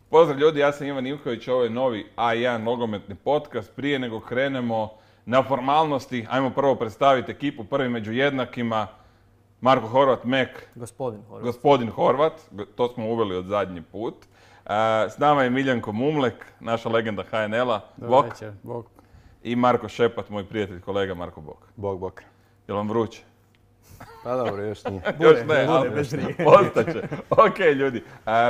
Pozdrav ljudi, ja sam Ivan Ivković, ovo je novi A1 nogometni podcast. Prije nego krenemo na formalnosti, ajmo prvo predstaviti ekipu. Prvi među jednakima, Marko Horvat, Mek. Gospodin Horvat, to smo uveli od zadnji put. S nama je Miljenko Mumlek, naša legenda HNL-a. Dobar večer, bok. I Marko Šepat, moj prijatelj, kolega Marko Bok. Bok. Jel vam vruće? Pa dobro, još nije. Još ne, ali postaće. Ok, ljudi.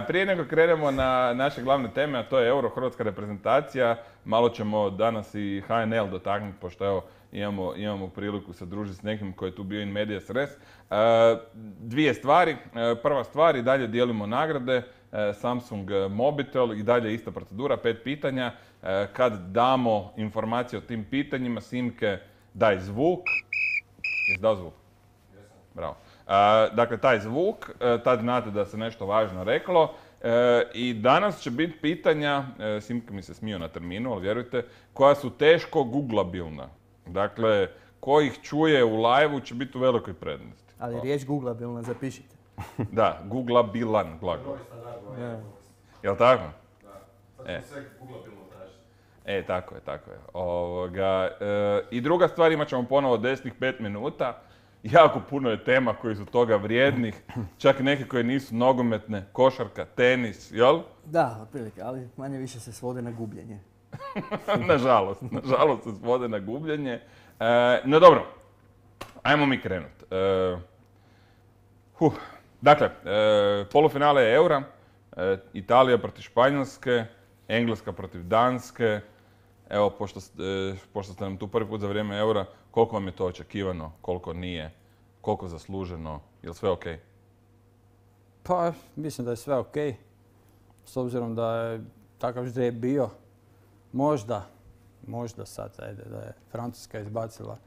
Prije nego krenemo na naše glavne teme, a to je Euro, hrvatska reprezentacija. Malo ćemo danas i HNL dotaknuti, pošto evo, imamo priliku se družiti s nekim koji je tu bio in medias res. Dvije stvari. Prva stvar, i dalje dijelimo nagrade. Samsung Mobitel, i dalje ista procedura, 5 pitanja. Kad damo informacije o tim pitanjima, Simke, daj zvuk. Jesi dao zvuk? Bravo. Dakle, taj zvuk, tad znate da se nešto važno reklo. I danas će biti pitanja, Simka mi se smio na terminu, ali vjerujte, koja su teško googlabilna. Dakle, ko ih čuje u live-u će biti u velikoj prednosti. Ali riječ googlabilna zapišite. Da, googlabilan glagol. Jel' tako? Da. Sad ćemo sve googlabilno tražiti. Tako je. I druga stvar, imat ćemo ponovo desnih 5 minuta. Jako puno je tema koji su toga vrijednih, čak neke koje nisu nogometne, košarka, tenis, jel? Da, otprilike, ali manje više se svode na gubljenje. Nažalost se svode na gubljenje. No dobro, ajmo mi krenuti. Dakle, polufinale je Eura, Italija protiv Španjolske, Engleska protiv Danske. Evo, pošto ste nam tu prvi put za vrijeme Eura, koliko vam je to očekivano, koliko nije, koliko zasluženo, je li sve ok? Pa, mislim da je sve ok. S obzirom da je takav ždrijeb bio, možda sad, da je Francuska izbacila,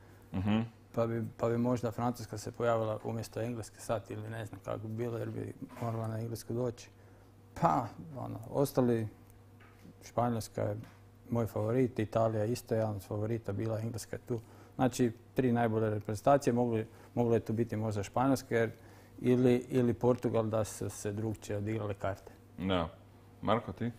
pa bi možda Francuska se pojavila umjesto Engleske sad ili ne znam kako bi bilo jer bi morala na Englesku doći. Pa, ostali, Španjolska je moj favorit, Italija je isto jedan od favorita, bila Engleska je tu. Znači, 3 najbolje reprezentacije, moglo je tu biti možda Španjolska ili Portugal da su se drugčije odigrale karte. Da. Marko, ti?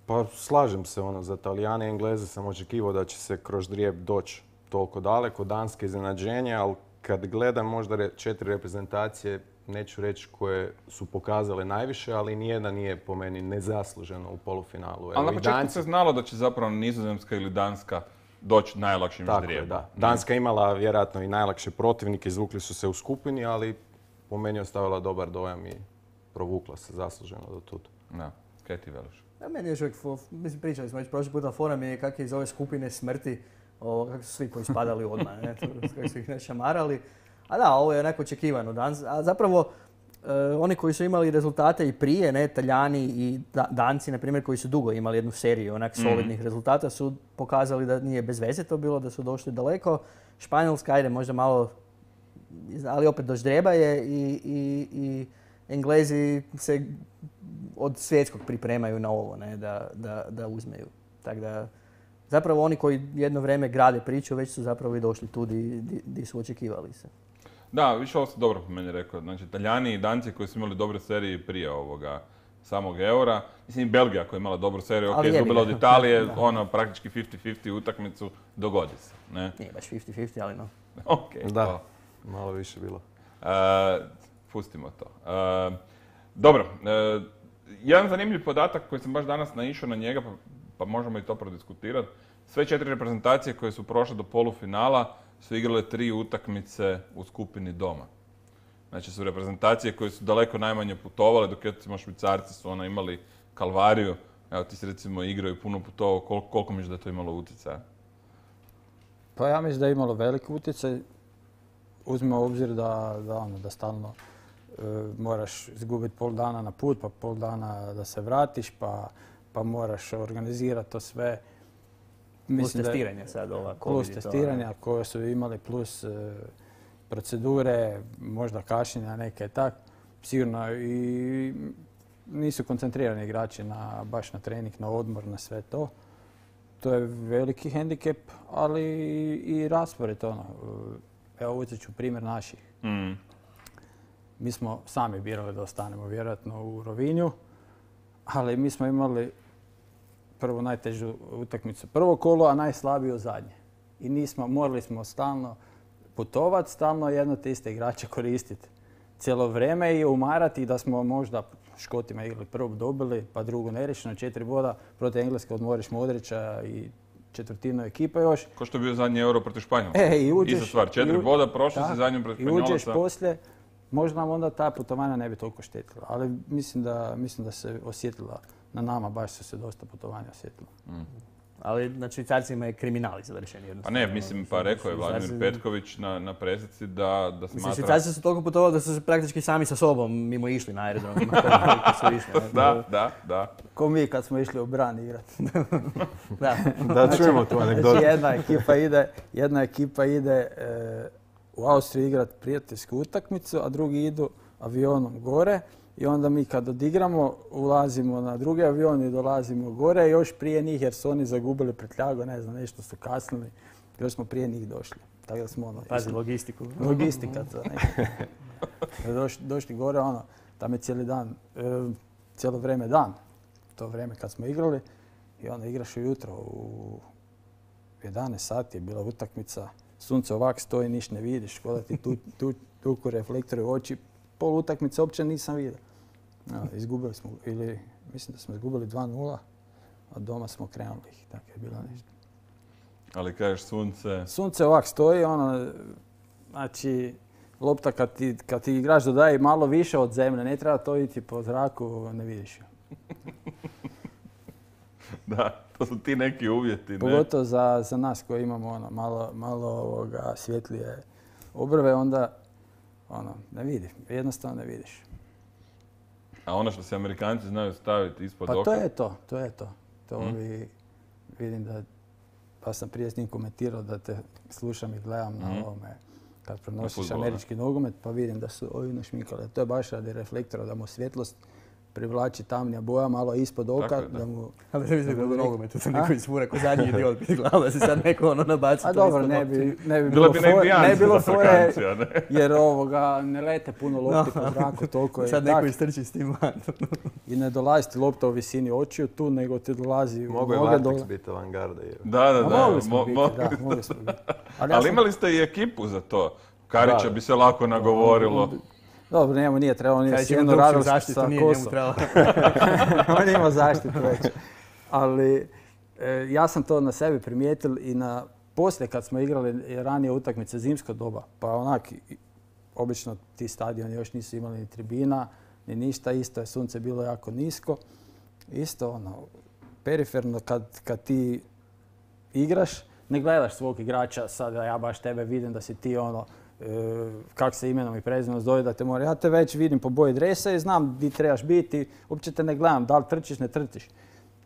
Pa slažem se, za Talijane i Engleze sam očekivao da će se kroz ždrijeb doći toliko daleko, Danske iznenađenje, ali kad gledam možda 4 reprezentacije, neću reći koje su pokazale najviše, ali nijedna nije po meni nezasluženo u polufinalu. Ali na početku se znalo da će zapravo Nizozemska ili Danska doći najlakšim ždrijebom. Da. Danska je imala vjerojatno i najlakše protivnike, izvukli su se u skupini, ali po meni je ostavila dobar dojam i provukla se zasluženo do tuda. Da, kaj ti veliš? Da, meni još uvijek, mislim, pričali smo već prošli puta, fora mi je kako je iz ove skupine smrti, kako su svi koji spadali odmah, kako su ih našamarali. A da, ovo je onako očekivano. A zapravo, oni koji su imali rezultate i prije, Talijani i Danci, na primjer, koji su dugo imali jednu seriju onak solidnih rezultata, su pokazali da nije bez veze to bilo, da su došli daleko. Španjolska, ajde, možda malo, ali opet do ždrijeba je i Englezi se od svjetskog pripremaju na ovo, da uzmeju. Tako da, zapravo oni koji jedno vrijeme grade priču, već su zapravo i došli tu di su očekivali se. Da, više ovo ste dobro po meni rekao. Znači, Talijani i Danci koji su imali dobre serije prije ovoga samog Eura. Mislim, i Belgija koja je imala dobru seriju, ok, izgubila od Italije, praktički 50-50 utakmicu, dogodi se. Ne? Nije baš 50-50, ali no. Ok. Da, malo više bilo. Pustimo to. Dobro, jedan zanimljiv podatak koji sam baš danas naišao na njega, pa možemo i to prodiskutirati. Sve 4 reprezentacije koje su prošle do polufinala su igrale 3 utakmice u skupini doma. Znači su reprezentacije koje su daleko najmanje putovale, dok recimo Švicarci su imali kalvariju. Evo ti si recimo igrao i puno putovao, koliko misliš da je to imalo utjecaja? Pa ja mislim da je imalo velik utjecaj. Uzmimo u obzir da stalno moraš izgubiti pol dana na put, pa pol dana da se vratiš, pa moraš organizirati to sve. Plus testiranje sad ova COVID. Plus testiranja koje su imali, plus procedure, možda kašnjenja neke tak. Sigurno i nisu koncentrirani igrači baš na trening, na odmor, na sve to. To je veliki hendikep, ali i raspored. Evo uzet ću primjer naših. Mi smo sami birali da ostanemo vjerojatno u Rovinju, ali mi smo imali prvo najtežu utakmicu prvo kolo, a najslabiju zadnje. I morali smo stalno putovati, stalno jedno te iste igrače koristiti cijelo vrijeme i umarati da smo možda Škotima igrali prvo dobili, pa drugo neriješeno, 4 boda protiv Engleske od Morić Modrića i četvrtinu ekipa još. Ko što je bio zadnji Euro protiv Španjolske. I uđeš, Iza stvar, 4 boda, prošli si zadnjom protiv Španjolaca. I uđeš poslije, možda nam onda ta putovanja ne bi toliko štetila, ali mislim da se osjetila na nama, baš su se dosta putovanja osjetila. Ali na Švicarcima je kriminal završen jednostavno. Pa ne, mislim, pa rekao je Vladimir Petković na presici da smatra... Mislim, Švicarci su toliko putovali da su se praktički sami sa sobom mimo išli na aerodrom. Da. Ko mi kad smo išli u Bran igrati. Da čujemo tu anegdotu. Znači, jedna ekipa ide u Austriju igrati prijateljsku utakmicu, a drugi idu avionom gore. I onda mi kad odigramo, ulazimo na drugi avion i dolazimo gore, još prije njih jer su oni zagubili prtljagu, ne znam, nešto su kasnili. Još smo prije njih došli. Tako da smo Pazi, logistiku. Logistika to. Došli gore, tam je cijeli dan, cijelo vrijeme dan. To vrijeme kad smo igrali. I onda igraš ujutro u 11 sati je bila utakmica. Sunce ovak stoji, niš ne vidiš, kod da ti tuku reflektore u oči. Pol utakmice uopće nisam vidio. Izgubili smo, mislim da smo izgubili 2-0, a doma smo krenuli ih, tako je bilo nešto. Ali kažeš sunce... Sunce ovak stoji, znači, lopta kad ti igrač dodaje malo više od zemlje, ne treba to iti po zraku, ne vidiš ju. Da, to su ti neki uvjeti, ne? Pogotovo za nas koji imamo malo svjetlije obrve, onda ne vidiš, jednostavno ne vidiš. A ono što se Amerikanci znaju staviti ispod oka? Pa to je to. Vidim da, pa sam prije s njim komentirao da te slušam i gledam na ovome kad prenosiš američki nogomet, pa vidim da su ovi našminkali. To je baš radi reflektora, da mu svjetlost privlači tamnija boja malo ispod oka. Da mu... Ali ne mislim da je nogometu se neko isfura ko zadnji idiot biti glava da se sad neko nabaci. A dobro, ne bi bilo fore jer ne lete puno lopti po zraku, toliko je. Sad neko istrči s tim van. I ne dolazi ti lopta u visini očiju tu, nego ti dolazi u noge dole. Mogu je Matrix biti avangarda. Da. Mogli smo biti. Ali imali ste i ekipu za to. Karića bi se lako nagovorilo. Dobro, njemu nije trebalo, nije sjenu radili sa kosom. On ima zaštitu već. Ali ja sam to na sebi primijetil i poslije kad smo igrali ranije utakmice zimsko doba, pa obično ti stadioni još nisu imali ni tribina, ni ništa, isto je sunce bilo jako nisko. Isto periferno kad ti igraš, ne gledaš svog igrača, sad ja baš tebe vidim da si ti kak se imenom i prezimenom zove da te mora. Ja te već vidim po boji dresa i znam gdje trebaš biti, uopće te ne gledam, da li trčiš, ne trčiš.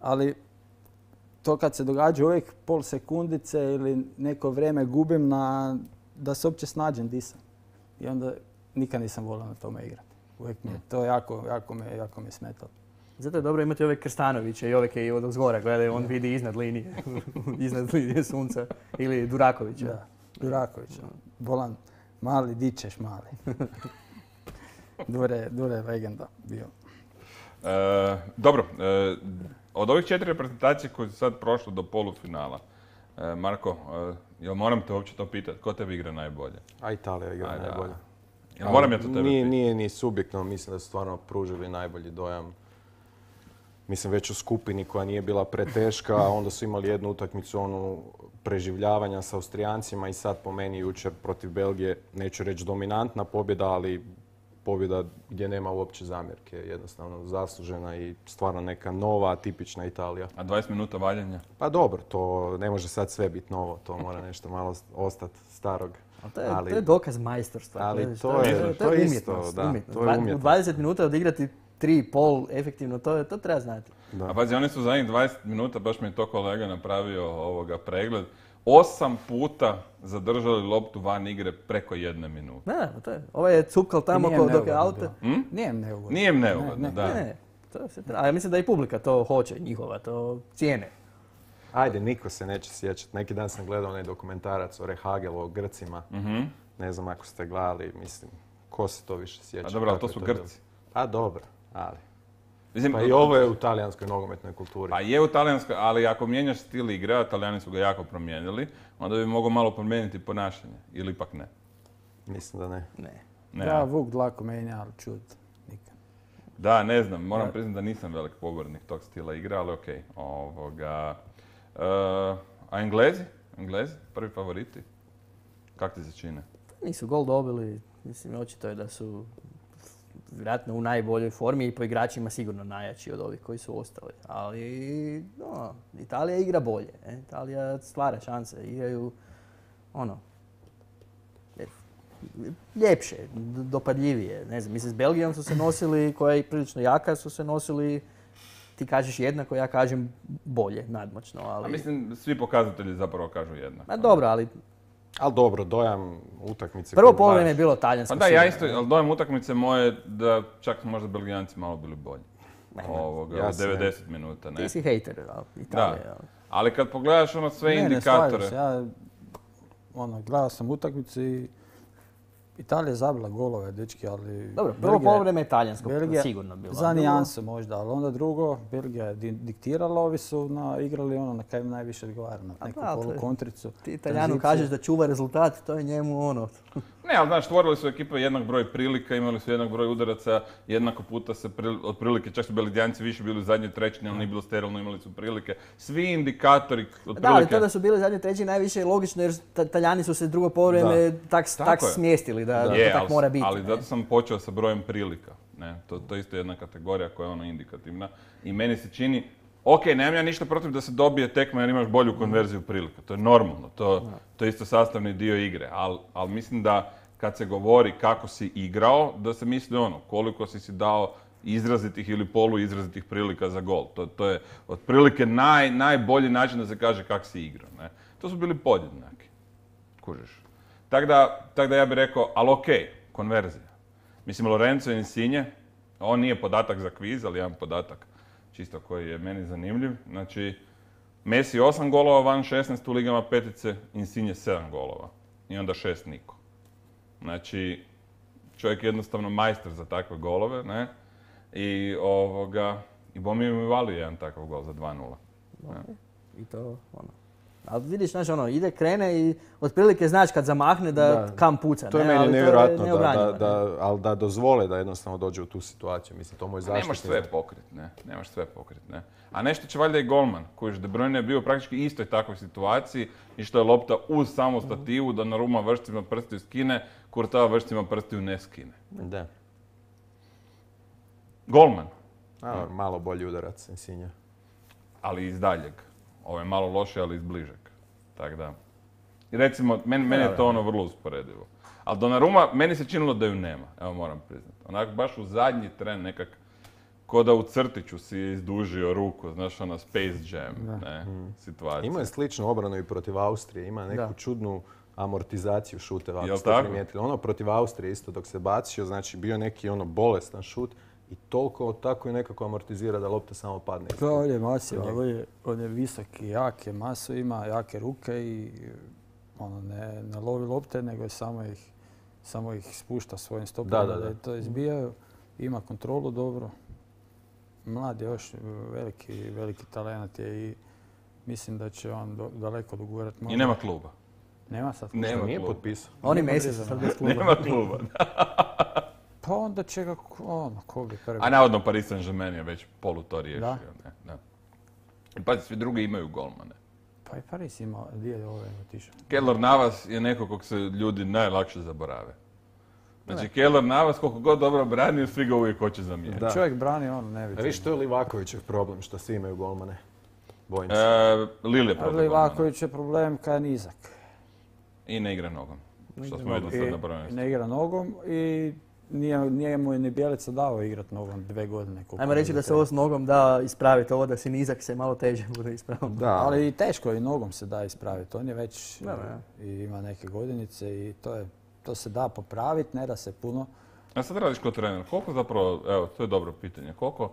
Ali to kad se događa uvijek pol sekundice ili neko vrijeme gubim da se uopće snađem di sam. I onda nikad nisam volio na tome igrati. Uvijek mi je to jako me smetalo. Zato je dobro imati ove Krstanoviće i ove koji od zgora gledaju, on vidi iznad linije sunca. Ili Durakovića. Da, Durakovića. Volan. Mali, di ćeš mali. Dure je legenda bio. Dobro, od ovih 4 reprezentacije koje su sad prošle do polufinala, Marko, jel moram te uopće to pitati, ko tebi igra najbolje? A Italija igra najbolje. Jel moram ja to tebe pitati? Nije ni subjektivno, mislim da su stvarno pružili najbolji dojam. Mislim, već u skupini koja nije bila preteška, a onda su imali jednu utakmicu preživljavanja sa Austrijancima i sad po meni jučer protiv Belgije, neću reći dominantna pobjeda, ali pobjeda gdje nema uopće zamjerke. Jednostavno zaslužena i stvarno neka nova, tipična Italija. A 20 minuta valjanja? Pa dobro, to ne može sad sve biti novo, to mora nešto malo ostati starog. To je dokaz majstorstva. Ali to je isto, da. To je umjetnost. U 20 minuta odigrati 3,5 efektivno, to treba znati. Da. A pazi, oni su zadnjih 20 minuta, baš mi je to kolega napravio pregled, 8 puta zadržali loptu van igre preko 1 minute. Da, to je. Ovo je cukal tamo dok je auto. Nije im neugodno, da. Ne, a ja mislim da i publika to hoće, njihova, to cijene. Ajde, niko se neće sjećati. Neki dan sam gledao onaj dokumentarac o Rehagelu, o Grcima. Ne znam ako ste gledali, mislim, ko se to više sjeća. A dobro, ali to su Grci. Pa dobro, ali Mislim, Pa i ovo je u talijanskoj nogometnoj kulturi. Pa je u talijanskoj, ali ako mijenjaš stil igre, a Talijani su ga jako promijenili, onda bi mogao malo promijeniti ponašanje. Ili ipak ne. Mislim da ne. Ne. Ne, Ja a? Vuk dlaku menja, ali čud. Nikad. Da, ne znam, moram priznati da nisam velik pobornik tog stila igre, ali okej. A Englezi? Englezi? Prvi favoriti? Kak ti se čine? Nisu gol dobili, mislim, očito je da su vjerojatno u najboljoj formi i po igračima sigurno najjači od ovih koji su ostali. Ali, no, Italija igra bolje. Italija stvara šanse, igraju, ljepše, dopadljivije. Ne znam, mislim, s Belgijom su se nosili, koja je prilično jaka, su se nosili, ti kažeš jednako, ja kažem bolje, nadmoćno, ali... A mislim, svi pokazatelji zapravo kažu jednako. Ma dobro, ali Ali dobro, dojam utakmice... prvo koju poluvreme je gledaš- bilo talijansko. Pa da, ja sigurno, isto, ali dojam utakmice moje da čak možda Belgijanci malo bili bolji. Ja U se ne- 90 minuta, ne? Ti si hejter, ali Italije. ali- Ali kad pogledaš sve Ne, indikatore... Ne, slažem se. Ja, gledao sam utakmicu i Italija je zabila golove, dečki, ali... Dobro, prvo poluvreme je talijansko, sigurno bilo. Za nijanse možda, ali onda drugo, Belgija je diktirala, ovi su igrali na kaj im najviše odgovara, na neku da, to je- polukontricu. Ti Italijanu tranziciju. kažeš da čuva rezultat, to je njemu Ne, ali znaš, stvorili su ekipe jednak broj prilika, imali su jednak broj udaraca, jednako puta se otprilike, čak su Belgijanci više bili u zadnjoj trećini, ali nije bilo sterilno, imali su prilike. Svi indikatori otprilike... Da, ali to da su bili zadnji treći najviše je logično jer Talijani su se drugo poluvreme tak Tako je. smjestili da to Je, tak mora biti. ali ne. zato sam počeo sa brojem prilika. Ne? To je isto jedna kategorija koja je indikativna. I meni se čini, ok, nemam ja ništa protiv da se dobije tekma jer imaš bolju konverziju prilika. To je normalno, to je isto sastavni dio igre. Ali mislim da kad se govori kako si igrao, da se misli koliko si dao izrazitih ili poluizrazitih prilika za gol. To je otprilike najbolji način da se kaže kako si igrao. Ne? To su bili podjednaki. Kužiš. Tako da ja bih rekao, ali okej, konverzija. Mislim, Lorenzo Insigne, on nije podatak za kviz, ali jedan podatak čisto koji je meni zanimljiv. Znači, Messi 8 golova van 16 u ligama petice, Insigne 7 golova. I onda 6 niko. Znači, čovjek je jednostavno majstor za takve golove, ne? I Bomi mi valio jedan takav gol za 2:0. Ne? I to, Ali vidiš, znaš, krene i otprilike znaš kad zamahne da kam puca. To je ne? meni Ali nevjerojatno, to je neobranjivo, ne? ali da dozvole da jednostavno dođe u tu situaciju. Mislim, to moj zaštitni... Nemaš sve pokrit, ne? Nemaš sve pokrit, ne? A nešto će valjda i golman, koji De Bruyne je bio praktički istoj takvoj situaciji i što je lopta uz samu stativu, da Donnarumma vršcima prstiju skine, Courtois vršcima prstiju ne skine. Da. Golman, Malo bolji udarac Insigne. ali iz daljeg. Ovo je malo loše, ali iz bližeg. Tako da. I recimo, meni je to vrlo usporedivo. Ali Donnarumma, meni se činilo da ju nema, evo moram priznati. Onako baš u zadnji tren nekak, ko da u crtiću si je izdužio ruku, znaš, Space Jam, situacija. Ima je sličnu obranu i protiv Austrije, ima neku čudnu amortizaciju šuteva, Jel ako ste tako? primijetili. Protiv Austrije isto dok se bacio, znači bio neki bolestan šut i toliko tako i nekako amortizira da lopta samo padne. To je masiva, on je visoki, jake masu ima, jake ruke i ne lovi lopte, nego samo ih spušta svojim stopama da to izbijaju. Ima kontrolu dobro. Mlad je još, veliki talent je i mislim da će on daleko dogurati. I nema kluba. Nema sad? Nema Nije kluba. potpisao. Oni Messi su sad bez kluba. Nema kluba. Pa onda će ga, ko bi prvi. A navodno Paris Saint-Germain je već polu to riješio. Da. Ne. I pazi, svi drugi imaju golmane. Pa i Paris ima, gdje je otišao? Keylor Navas je neko kog se ljudi najlakše zaborave. Znači, Keylor Navas, koliko god dobro brani, svi ga uvijek hoće zamijeniti. Čovjek brani, ne A vidi. viš, to je Livakovićev problem, što svi imaju golmane. Bojim se. Lille je problem. Livaković je problem kad je nizak. I ne igra nogom. Što smo vidjeli sad na prvenstvu. Ne igra nogom i nije mu je ni Bjelica dao igrat nogom 2 godine. Ajmo reći da se ovo s nogom da ispraviti, ovo da si nizak se malo teže bude ispraviti. Da, ali i teško i nogom se da ispraviti. On je već i ima neke godinice i to se da popraviti, ne da se puno. A sad radiš kao trener, koliko zapravo, evo, to je dobro pitanje, koliko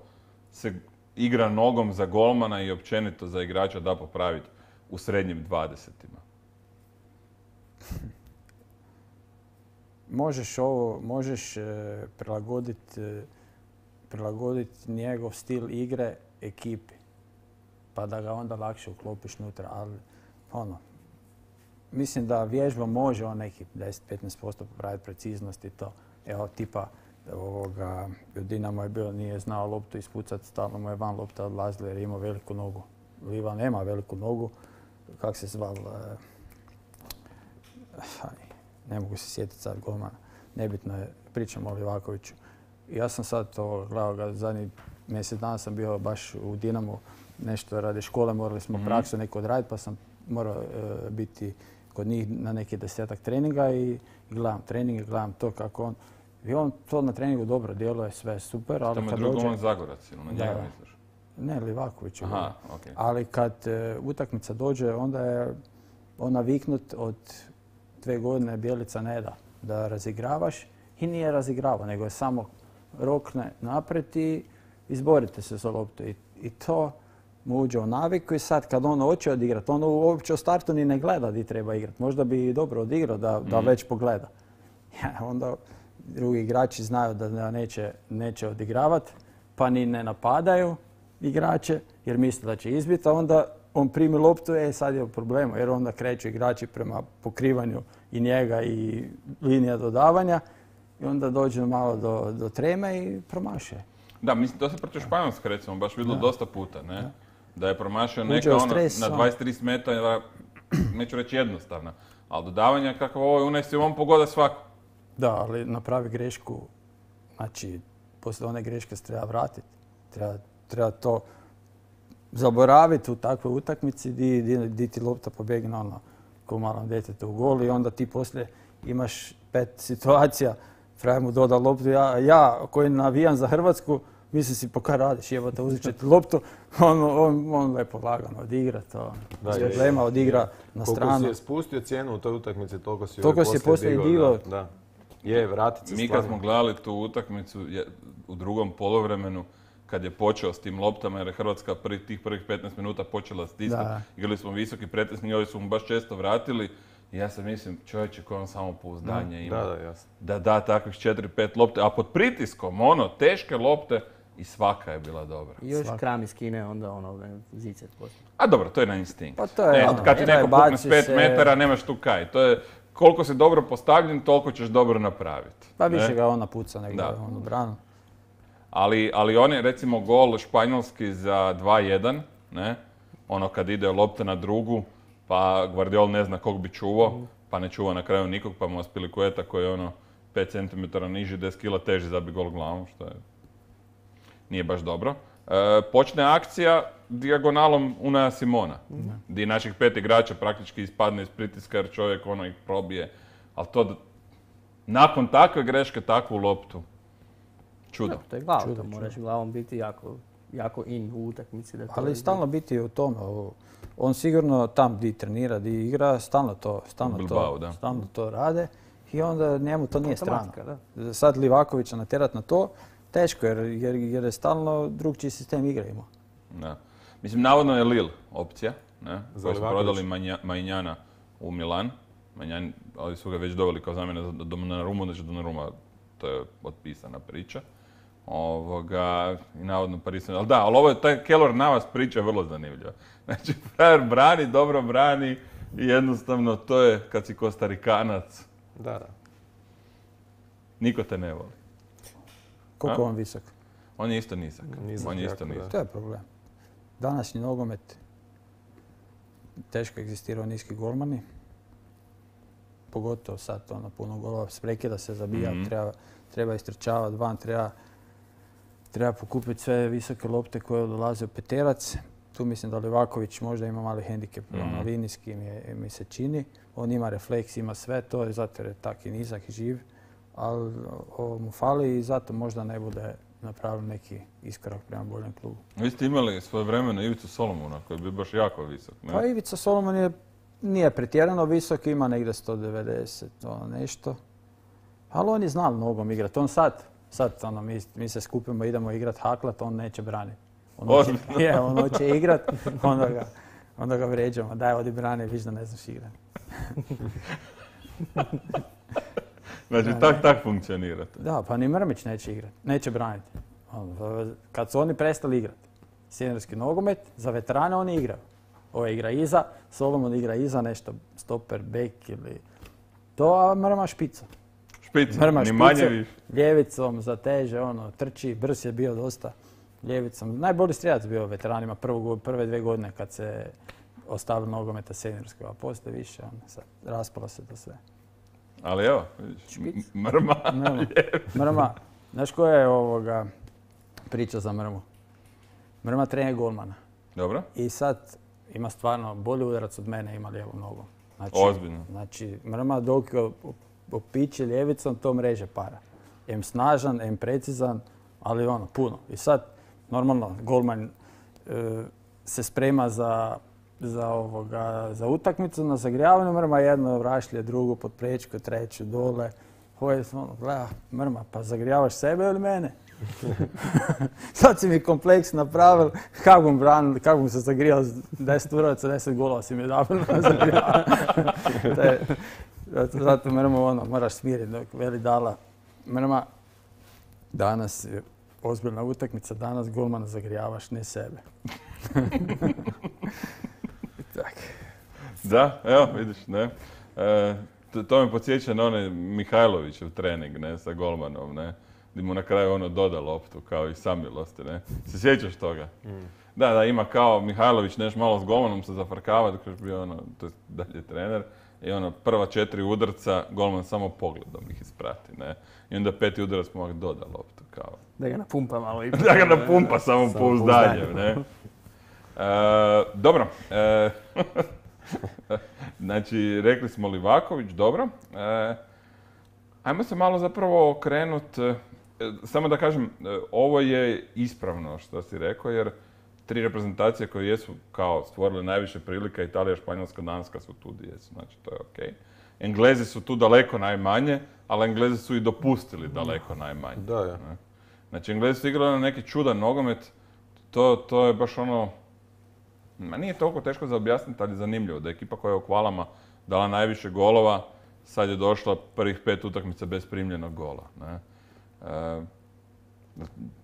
se igra nogom za golmana i općenito za igrača da popraviti u srednjim 20-ima? Možeš prilagoditi prilagoditi njegov stil igre ekipi. Pa da ga onda lakše uklopiš unutra. Ali, mislim da vježba može on neki 10-15% popraviti preciznost i to. Evo, tipa, Dinamo je bilo, nije znao loptu ispucati, stalno mu je van lopta odlazila jer je imao veliku nogu. Liva nema veliku nogu, kak se zval, ne mogu se sjetiti sad golmana, nebitno je, pričam o Livakoviću. Ja sam sad to gledao ga, zadnjih mjesec dana sam bio baš u Dinamu, nešto radi škole, morali smo praksu neko odraditi pa sam morao biti kod njih na neki 10-ak treninga i gledam treninge, gledam to kako on. I on to na treningu dobro djeluje, sve super, ali kad dođe... Tamo je Zagorac, ili na njega misliš? Ne, Livaković. Aha, okej. Ali kad utakmica dođe, onda je on naviknut od 2 godine Bjelica ne da razigravaš i nije razigrava, nego je samo rokne naprijed i izborite se za loptu. I to mu uđe u naviku i sad kad on hoće odigrati, on uopće u startu ni ne gleda di treba igrati. Možda bi dobro odigrao da već pogleda. Onda drugi igrači znaju da neće odigravati, pa ni ne napadaju igrače jer misle da će izbiti, a onda on primi loptu, sad je u problemu jer onda kreću igrači prema pokrivanju i njega i linija dodavanja i onda dođe malo do treme i promašuje. Da, mislim, to se protiv Španjolske recimo baš vidjelo dosta puta, ne? Da je promašio neka na 23 metara, neću reći jednostavna, ali dodavanja kakav ovo je unesi, on pogoda svaku. Da, ali napravi grešku, znači, poslije one greške se treba vratiti. Treba to zaboraviti u takvoj utakmici di ti lopta pobjegne ko malom djetetu u gol i onda ti poslije imaš 5 situacija, frajer mu doda loptu, ja koji navijam za Hrvatsku, mislim si pa kaj radiš, jebote, uzet će ti loptu, on lepo lagano odigra to, bez problema odigra na stranu. Koliko si je spustio cijenu u toj utakmici, toliko si poslije digao. Je, vratit se mi kad smo gledali tu utakmicu u drugom poluvremenu, kad je počeo s tim loptama, jer je Hrvatska tih prvih 15 minuta počela stisnuti, igrali smo visoki pretesni i ovi su mu baš često vratili. I ja sam mislim, čovječe, koje on samopouzdanje ima. Da da takvih 4-5 lopte, a pod pritiskom, teške lopte i svaka je bila dobra. I još Kram iz Kine, onda zicet poslije. A dobro, to je na instinkt. Pa to je kad ti neko pukne s 5 metara, nemaš tu kaj. To je, koliko si dobro postavljen, toliko ćeš dobro napraviti. Pa više ga ona puca nego u branu. Ali on je, recimo, gol španjolski za 2-1, ne? Kad ide lopta na drugu, pa Guardiol ne zna kog bi čuvao, pa ne čuva na kraju nikog, pa mu Aspilicueta koji je 5 cm niži, 10 kg teži zabi gol glavom, što nije baš dobro. Počne akcija dijagonalom Unaja Simona, gdje naših 5 igrača praktički ispadne iz pritiska jer čovjek ih probije. Ali to, nakon takve greške, takvu loptu, čudo. To je glava, to moraš glavom biti jako in u utakmici. Ali stalno biti u tome. On sigurno tam gdje trenira, gdje igra, stalno to rade i onda njemu to nije strano. Sad Livakovića natjerat na to, teško jer je stalno drugčiji sistem igre imao. Da. Mislim, navodno je Lille opcija, koji su prodali Majnjana u Milan. Ali su ga već doveli kao zamjena za Donnarumu, znači Donnarumma, to je otpisana priča. I navodno Paris. Ali da, ali taj Keylor Navas priča je vrlo zanimljiva. Znači, frajer brani, dobro brani i jednostavno to je kad si Kostarikanac. Da. Niko te ne voli. Koliko on visok? On je isto nizak. To je problem. Današnji nogomet teško egzistirao niski golmani. Pogotovo sad puno golova s prekida se zabija, treba istrčavati van, treba pokupiti sve visoke lopte koje dolaze u peterac. Tu mislim da Livaković možda ima mali hendikep, linijski mi se čini. On ima refleks, ima sve to, zato je tak i nizak i živ. Ali ovo mu fali i zato možda ne bude napravio neki iskorak prema boljem klubu. Vi ste imali svojevremeno Ivicu Solomona koji je bio baš jako visok, ne? Pa Ivica Solomon nije pretjerano visok, ima negdje 190, nešto. Ali on je znao nogom igrati. On sad mi se skupimo, idemo igrati haklat, on neće braniti. On hoće igrati, onda ga vređamo. Daj, odi brani, viš da ne znaš igrati. Znači, tak funkcionirate. Da, pa ni Mrmić neće igrati, neće braniti. Kad su oni prestali igrati seniorski nogomet, za veterane oni igraju. Ovo igra iza, Solomon igra iza nešto, stoper, bek ili... To, a Mrma špica. Špica, ni manje više. Ljevicom zateže, trči, brz je bio dosta. Ljevicom. Najbolji strijelac bio veteranima prve 2 godine kad se ostavili nogometa seniorskog, a poslije više, sad raspalo se to sve. Ali evo, vidiš, Mrma. Mrma. Znaš koja je priča za Mrmu? Mrma trener golmana. Dobro. I sad ima stvarno bolji udarac od mene, ima lijevu nogu. Ozbiljno. Znači, Mrma dok opiće ljevicom, to mreže para. Em snažan, em precizan, ali puno. I sad, normalno, golman se sprema za utakmicu, na zagrijavanju, Mrma jedno rašlje, drugo pod prečku, treću dole. Hoje, gleda, Mrma, pa zagrijavaš sebe ili mene? Sad si mi kompleks napravil, kako bom se zagrijal 10 uraca, 10 golova si mi dal na zagrijavanje. Zato Mrma moraš smiriti dok veli dala. Mrma, danas je ozbiljna utakmica, danas golmana zagrijavaš, ne sebe. Da, evo vidiš, ne. To me podsjeća na onaj Mihajlovićev trening, ne, sa golmanom, ne. Gdje mu na kraju doda loptu, kao i samilosti, ne. Se sjećaš toga? Da, ima kao Mihajlović nešto malo s golmanom se zafrkava, dok još bio to je dalje trener. I prva 4 udarca, golman samo pogledom ih isprati, ne. I onda 5. udarac mu doda loptu, kao. Da ga napumpa malo i... Da ga napumpa samo pouzdanjem, ne. Dobro. Znači, rekli smo Livaković, dobro. Ajmo se malo zapravo okrenuti. Samo da kažem, ovo je ispravno što si rekao, jer 3 reprezentacije koje jesu kao stvorile najviše prilika, Italija, Španjolska, Danska su tu gdje jesu, znači to je okej. Englezi su tu daleko najmanje, ali Englezi su i dopustili daleko najmanje. Da, ja. Znači, Englezi su igrali na neki čudan nogomet, to je baš nije toliko teško za objasniti, ali zanimljivo da je ekipa koja je u kvalama dala najviše golova, sad je došla prvih 5 utakmica bez primljenog gola. Ne?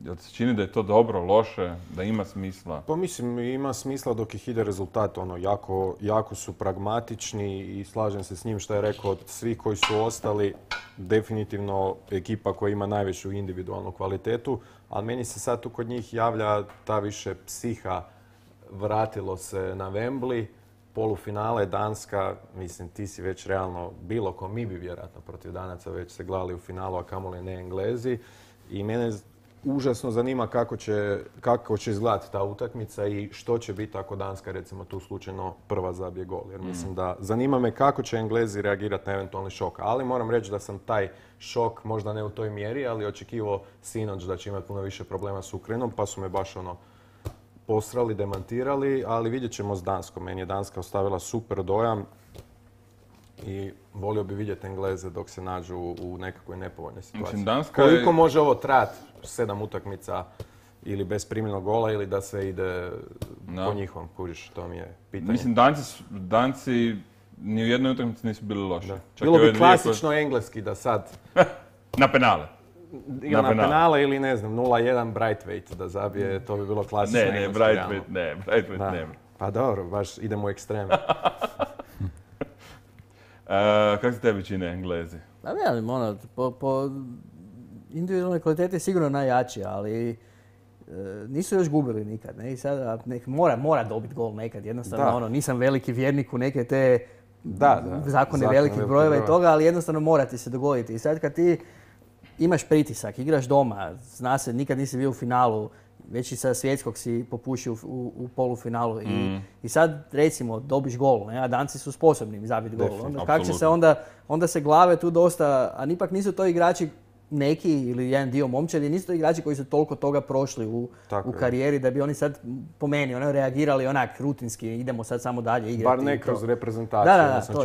Jel ti se čini da je to dobro, loše, da ima smisla? Pa mislim, ima smisla dok ih ide rezultat. Jako su pragmatični i slažem se s njim što je rekao od svih koji su ostali, definitivno ekipa koja ima najveću individualnu kvalitetu, ali meni se sad tu kod njih javlja ta više psiha. Vratilo se na Wembley, polufinale, Danska, mislim ti si već realno bilo ko, mi bi vjerojatno protiv Danaca već se glali u finalu, a kamoli ne Englezi. I mene užasno zanima kako će izgledati ta utakmica i što će biti ako Danska recimo tu slučajno prva zabije gol. Jer mislim da zanima me kako će Englezi reagirati na eventualni šok. Ali moram reći da sam taj šok, možda ne u toj mjeri, ali očekivao sinoć da će imati puno više problema s Ukrajinom, pa su me baš posrali, demantirali, ali vidjet ćemo s Danskom. Meni je Danska ostavila super dojam i volio bi vidjeti Engleze dok se nađu u nekakvoj nepovoljnoj situaciji. Koliko može ovo trajati 7 utakmica ili bez primljenog gola ili da se ide po njihovom, kužiš, to mi je pitanje. Mislim, Danci ni u jednoj utakmici nisu bili loši. Bilo bi klasično engleski da sad... Na penale. Ili na penale ili ne znam, 0-1 Braithwaite da zabije, to bi bilo klasično engleski. Braithwaite nema. Pa dobro, baš idemo u ekstreme. Kako se tebi čine Englezi? Pa ne, po individualnoj kvaliteti je sigurno najjači, ali nisu još gubili nikad. Ne? I sada mora dobiti gol nekad, jednostavno nisam veliki vjernik u neke te zakone velikih brojeva i toga, ali jednostavno mora ti se dogoditi. I sad kad ti imaš pritisak, igraš doma, zna se, nikad nisi bio u finalu, već i sa svjetskog si popušio u polufinalu i sad recimo dobiš gol, ne? A Danci su sposobni zabiti gol. Kako će se onda se glave tu dosta, a ipak nisu to igrači neki ili jedan dio momčadi, nisu to igrači koji su toliko toga prošli u karijeri da bi oni sad po meni reagirali onak rutinski, idemo sad samo dalje igrati. Bar ne kroz reprezentaciju.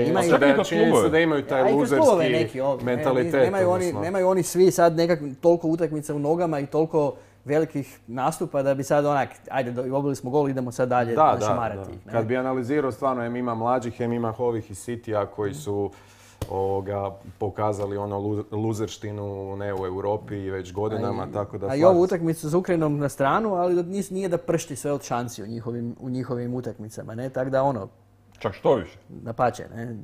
Čini se da imaju taj luzerski mentalitet. Nemaju oni svi sad toliko utakmica u nogama i toliko velikih nastupa da bi sad ajde, dobili smo gol, idemo sad dalje šamarati ih. Kad bi analizirao stvarno, ima mlađih, ima ovih iz Citya koji su pokazali ono luzerštinu ne u Europi već godinama, tako da... A i ovu utakmicu s Ukrajinom na stranu, ali nije da pršti sve od šansi u njihovim utakmicama, ne? Tako da ono... Čak što više? Dapače, ne?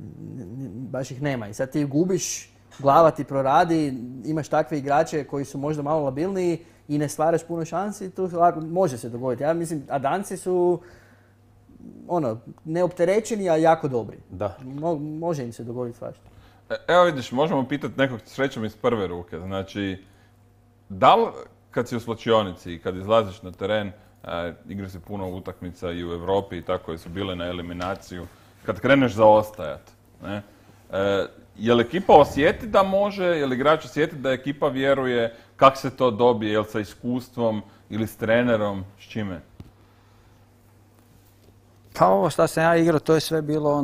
Baš ih nema. I sad ti gubiš, glava ti proradi, imaš takve igrače koji su možda malo labilniji i ne stvaraš puno šansi, tu može se dogoditi. Ja mislim, a Danci su neopterećeni, a jako dobri. Da. Može im se dogoditi svašta. Evo vidiš, možemo pitati nekog srećom iz prve ruke. Znači, da li kad si u slačionici i kad izlaziš na teren, igra se puno utakmica i u Europi i tako koje su bile na eliminaciju, kad kreneš zaostajat, ne? Je li ekipa osjeti da može, je li igrač osjeti da ekipa vjeruje, kako se to dobije, je li sa iskustvom ili s trenerom, s čime? Pa ovo što sam ja igrao, to je sve bilo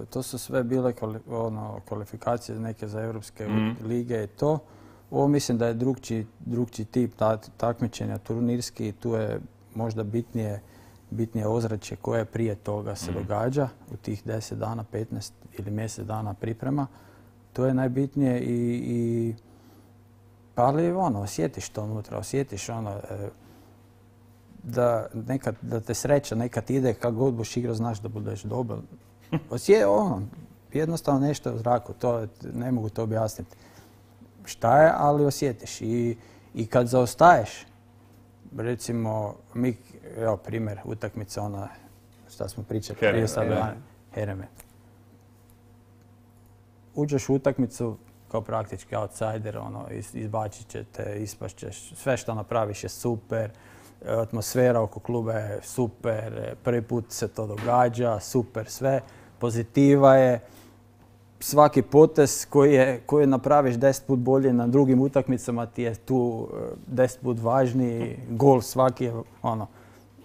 to su sve bile kvalifikacije neke za Europske lige i to. Ovo mislim da je drugčiji tip takmičenja, turnirski, i tu je možda bitnije ozračje koje prije toga se događa u tih 10 dana, 15 ili mjesec dana priprema. To je najbitnije ali osjetiš to unutra, osjetiš da te sreća nekad ide, kako god budeš igrao, znaš da budeš dobar. Jednostavno nešto u zraku, to ne mogu to objasniti šta je, ali osjetiš. I kad zaostaješ, recimo, evo primjer, utakmica šta smo pričali prije sada, Hereme. Uđeš u utakmicu kao praktički outsider, izbacit će te, ispašt ćeš, sve što napraviš je super, atmosfera oko kluba je super, prvi put se to događa, super sve, pozitiva je, svaki potez koji napraviš 10 put bolje na drugim utakmicama ti je tu 10 put važniji, gol svaki je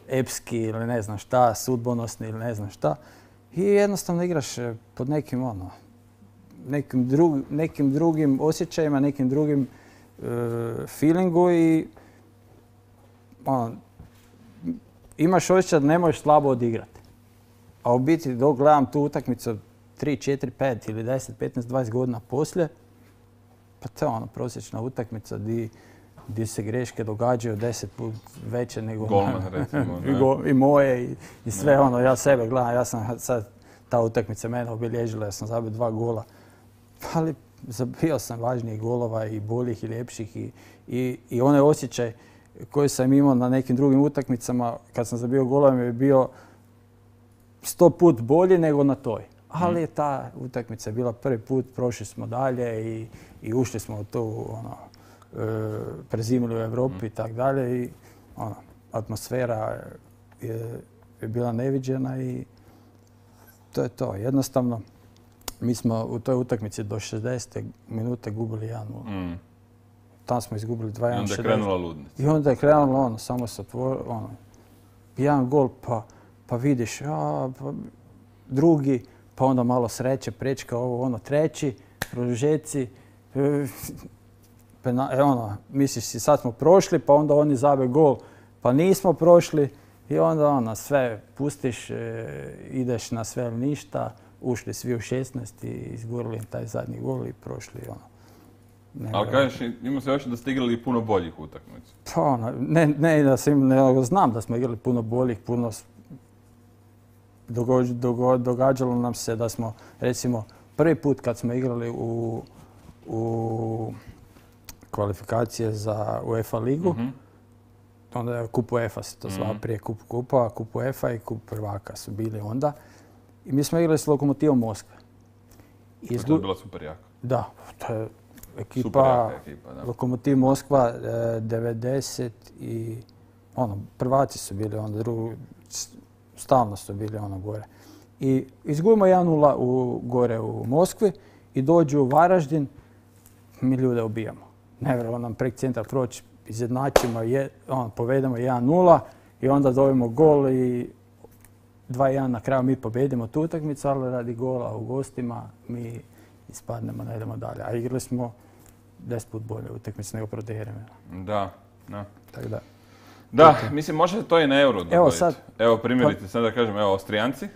epski ili ne znam šta, sudbonosni ili ne znam šta. I jednostavno igraš pod nekim drugim osjećajima, nekim drugim feelingu i imaš osjećaj da ne možeš slabo odigrati. A u biti dok gledam tu utakmicu 3, 4, 5 ili 10, 15, 20 godina poslije, pa to je prosječna utakmica gdje se greške događaju 10 put veće nego golman, recimo, i moje i sve ja sebe gledam, ja sam sad ta utakmica mene obilježila, ja sam zabio 2 gola, ali zabio sam važnijih golova i boljih i ljepših i onaj osjećaj koji sam imao na nekim drugim utakmicama kad sam zabio golova je bio 100 put bolji nego na toj. Ali ta utakmica je bila prvi put, prošli smo dalje i ušli smo u tu prezimili u Europi i tako dalje i atmosfera je bila neviđena i to je to. Jednostavno, mi smo u toj utakmici do 60. minute gubili 1-0. Tam smo izgubili 2-1. I onda je krenula ludnica. I onda je krenulo samo se otvorilo, jedan gol pa vidiš, drugi, pa onda malo sreće, prečka treći, produžeci, misliš si sad smo prošli, pa onda oni zabe gol, pa nismo prošli i onda sve pustiš, ideš na sve ili ništa, ušli svi u 16 i izgurili taj zadnji gol i prošli. Ali kažeš, imamo se još da ste igrali puno boljih utakmica. Pa ne da sam, nego znam da smo igrali puno boljih, puno događalo nam se da smo, recimo, prvi put kad smo igrali u kvalifikacije za UEFA ligu, onda je kup UEFA se to zvao prije kup kupa, kup UEFA i kup prvaka su bili onda. I mi smo igrali s Lokomotivom Moskve. To je bila super jaka. Da, to je ekipa, Lokomotiv Moskva 90 i prvaci su bili onda, stalno su bili gore. I izgubimo 1-0 gore u Moskvi i dođu u Varaždin, mi ljude ubijamo. Nevjerojatno nam prek centra proći, izjednačimo, povedemo 1-0 i onda dobijemo gol i 2-1 na kraju mi pobedimo tu utakmicu, ali radi gola u gostima mi ispadnemo, ne idemo dalje. A igrali smo 10 put bolje utakmice nego protiv Jeremena. Da. Tako da. Da, mislim, može to i na Euro dogoditi. Evo, primjerice, sad da kažem, Austrijanci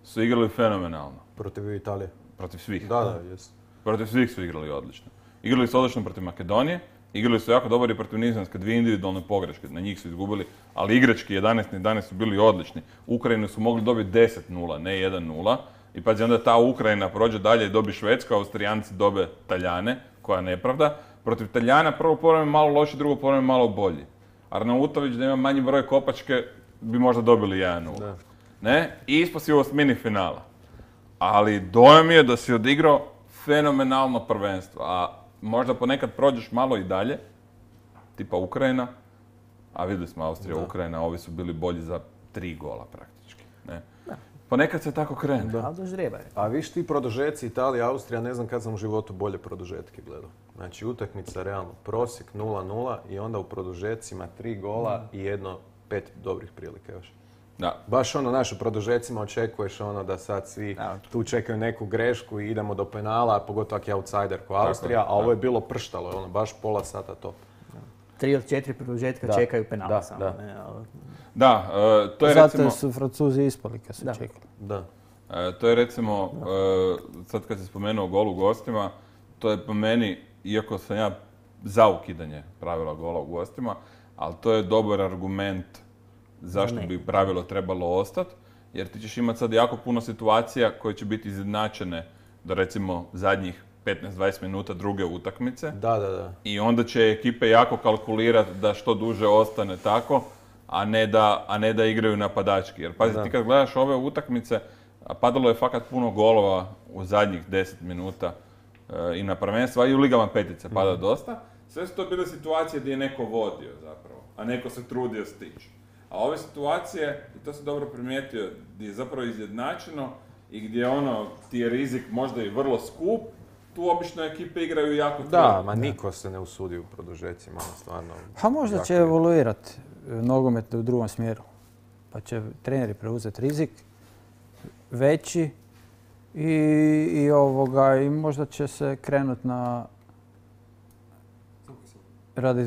su igrali fenomenalno. Protiv Italije. Protiv svih. Da, jesu. Protiv svih su igrali odlično. Igrali su odlično protiv Makedonije, igrali su jako dobro i protiv Nizozemske, 2 individualne pogreške, na njih su izgubili, ali igrački 11-11 su bili odlični. Ukrajinu su mogli dobiti 10-0, ne 1-0. I pazi, onda ta Ukrajina prođe dalje i dobi Švedsku, Austrijanci dobe Taljane, koja je nepravda. Protiv Taljana prvo polovreme malo loši, drugo polovreme malo bolji. Arnautović da ima manji broj kopačke bi možda dobili 1-0. Ne? I ispao si u osmini finala. Ali dojam je da si odigrao fenomenalno prvenstvo, a možda ponekad prođeš malo i dalje, tipa Ukrajina, a vidjeli smo Austrija, Ukrajina, ovi su bili bolji za 3 gola praktički. Ne? Ponekad se tako krene. Ali dožrijeba je. A viš ti produžeci, Italija, Austrija, ne znam kad sam u životu bolje produžetke gledao. Znači utakmica realno, prosjek 0-0 i onda u produžecima 3 gola i 5 dobrih prilika još. Da. Baš naš u produžecima očekuješ da sad svi tu čekaju neku grešku i idemo do penala, pogotovo ako je outsider ko Austrija, a ovo je bilo prštalo, baš pola sata top. 3 od 4 produžetka čekaju penala samo. Da, to je zato recimo... su Francuzi ispali kad su čekali. Da. To je recimo, sad kad si spomenuo gol u gostima, to je po meni, iako sam ja za ukidanje pravila gola u gostima, ali to je dobar argument zašto bi pravilo trebalo ostati, jer ti ćeš imati sad jako puno situacija koje će biti izjednačene do recimo zadnjih 15-20 minuta druge utakmice. Da. I onda će ekipe jako kalkulirati da što duže ostane tako, a ne da igraju napadački. Jer pazi, ti kad gledaš ove utakmice, padalo je fakat puno golova u zadnjih 10 minuta i na prvenstva, i u ligama petice pada dosta. Sve su to bile situacije gdje je neko vodio zapravo, a neko se trudio stići. A ove situacije, i to si dobro primijetio, gdje je zapravo izjednačeno i gdje ti je rizik možda i vrlo skup, tu obično ekipe igraju jako tvrdo. Da, ma niko se ne usudi u produžecima, stvarno. Pa možda će evoluirati nogomet u drugom smjeru. Pa će treneri preuzeti rizik veći i možda će se krenuti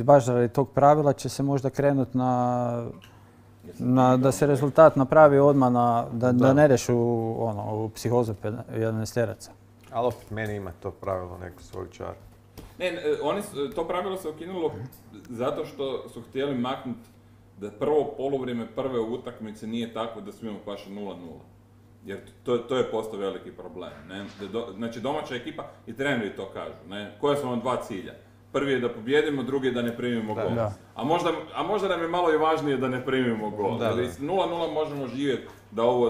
baš radi tog pravila će se možda krenuti da se rezultat napravi odmah, da ne ideš u psihozu 11-teraca. Ali opet meni ima to pravilo neku svoju čar. Ne, to pravilo se ukinulo zato što su htjeli maknuti da prvo poluvrijeme prve utakmice nije tako da smijemo paše 0-0. Jer to je postao veliki problem. Ne? Znači domaća ekipa i treneri to kažu. Ne? Koja su vam 2 cilja? Prvi je da pobjedimo, drugi je da ne primimo gol. A možda nam je malo i važnije da ne primimo gol. Jer 0-0 možemo živjeti da ovo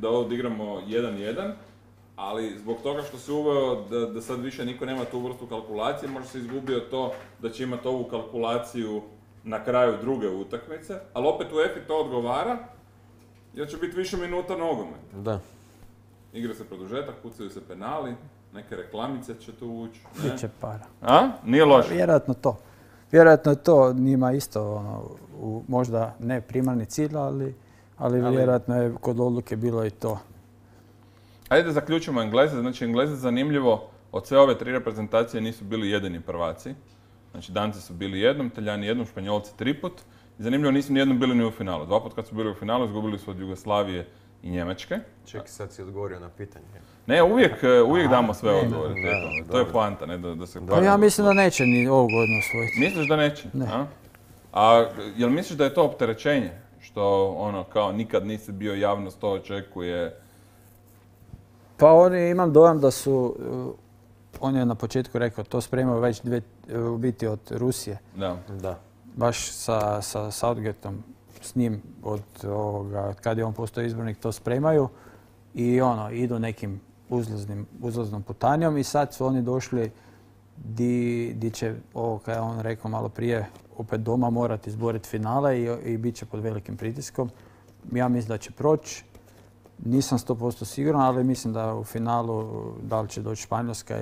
odigramo 1-1, ali zbog toga što se uveo da sad više niko nema tu vrstu kalkulacije, možda se izgubio to da će imati ovu kalkulaciju na kraju druge utakmice, ali opet u EFI to odgovara, jer će biti više minuta nogometa. Da. Igra se produžetak, pucaju se penali, neke reklamice će tu ući. Biće para. A? Nije loše. Vjerojatno to. Vjerojatno je to njima isto, možda ne primarni cilj, ali vjerojatno je kod odluke bilo i to. Ajde da zaključimo Engleze. Znači, Engleze zanimljivo, od sve ove 3 reprezentacije nisu bili jedini prvaci. Znači, Danci su bili jednom, Talijani jednom, Španjolci 3 put. I zanimljivo, nisu ni jednom bili ni u finalu. 2 put kad su bili u finalu, izgubili su od Jugoslavije i Njemačke. Čekaj, sad si odgovorio na pitanje. Ne, uvijek damo sve odgovore. To je poanta, ne da se... Pa ja mislim da neće ni ovu godinu osvojiti. Misliš da neće? Ne. A jel misliš da je to opterećenje? Što kao nikad nisi bio javnost, to očekuje... Pa imam dojam da su, on je na početku rekao, to spremaju već biti od Rusije. Da. Baš sa Southgateom, s njim od kad je on postao izbornik, to spremaju i idu nekim uzlaznom putanjom i sad su oni došli di će, kada je on rekao malo prije, opet doma morati izboriti finale i bit će pod velikim pritiskom. Ja mislim da će proći. Nisam 100% siguran, ali mislim da u finalu da li će doći Španjolska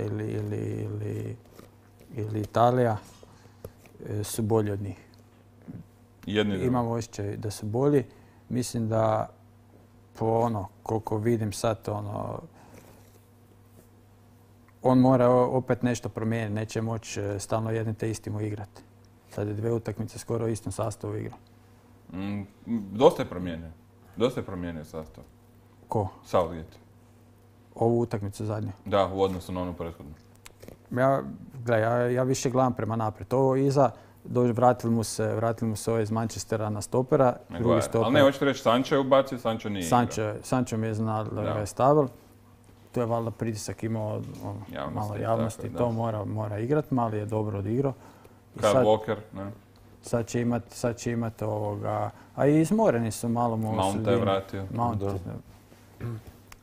ili Italija su bolji od njih. Imam osjećaj da su bolji. Mislim da koliko vidim sad, on mora opet nešto promijeniti. Neće moći stalno jednim te istim igrati. Sad je 2 utakmice skoro u istom sastavu igra. Dosta je promijenio sastav. Ko? Southgate. Ovu utakmicu zadnju. Da, u odnosu na onu prethodnu. Ja više gledam prema naprijed. Ovo iza, vratili mu se ovaj iz Manchestera na stopera. Drugi stoper. Ali ne, hoćete reći Sancho je ubacio, Sancho nije igrao. Sancho mi je znao da ga je stavil. To je valjda pritisak imao malo javnosti. To mora igrati, mali je dobro odigrao. Kyle Walker, ne? Sad će imati ovoga... A i izmoreni su malo mu... Mount je vratio.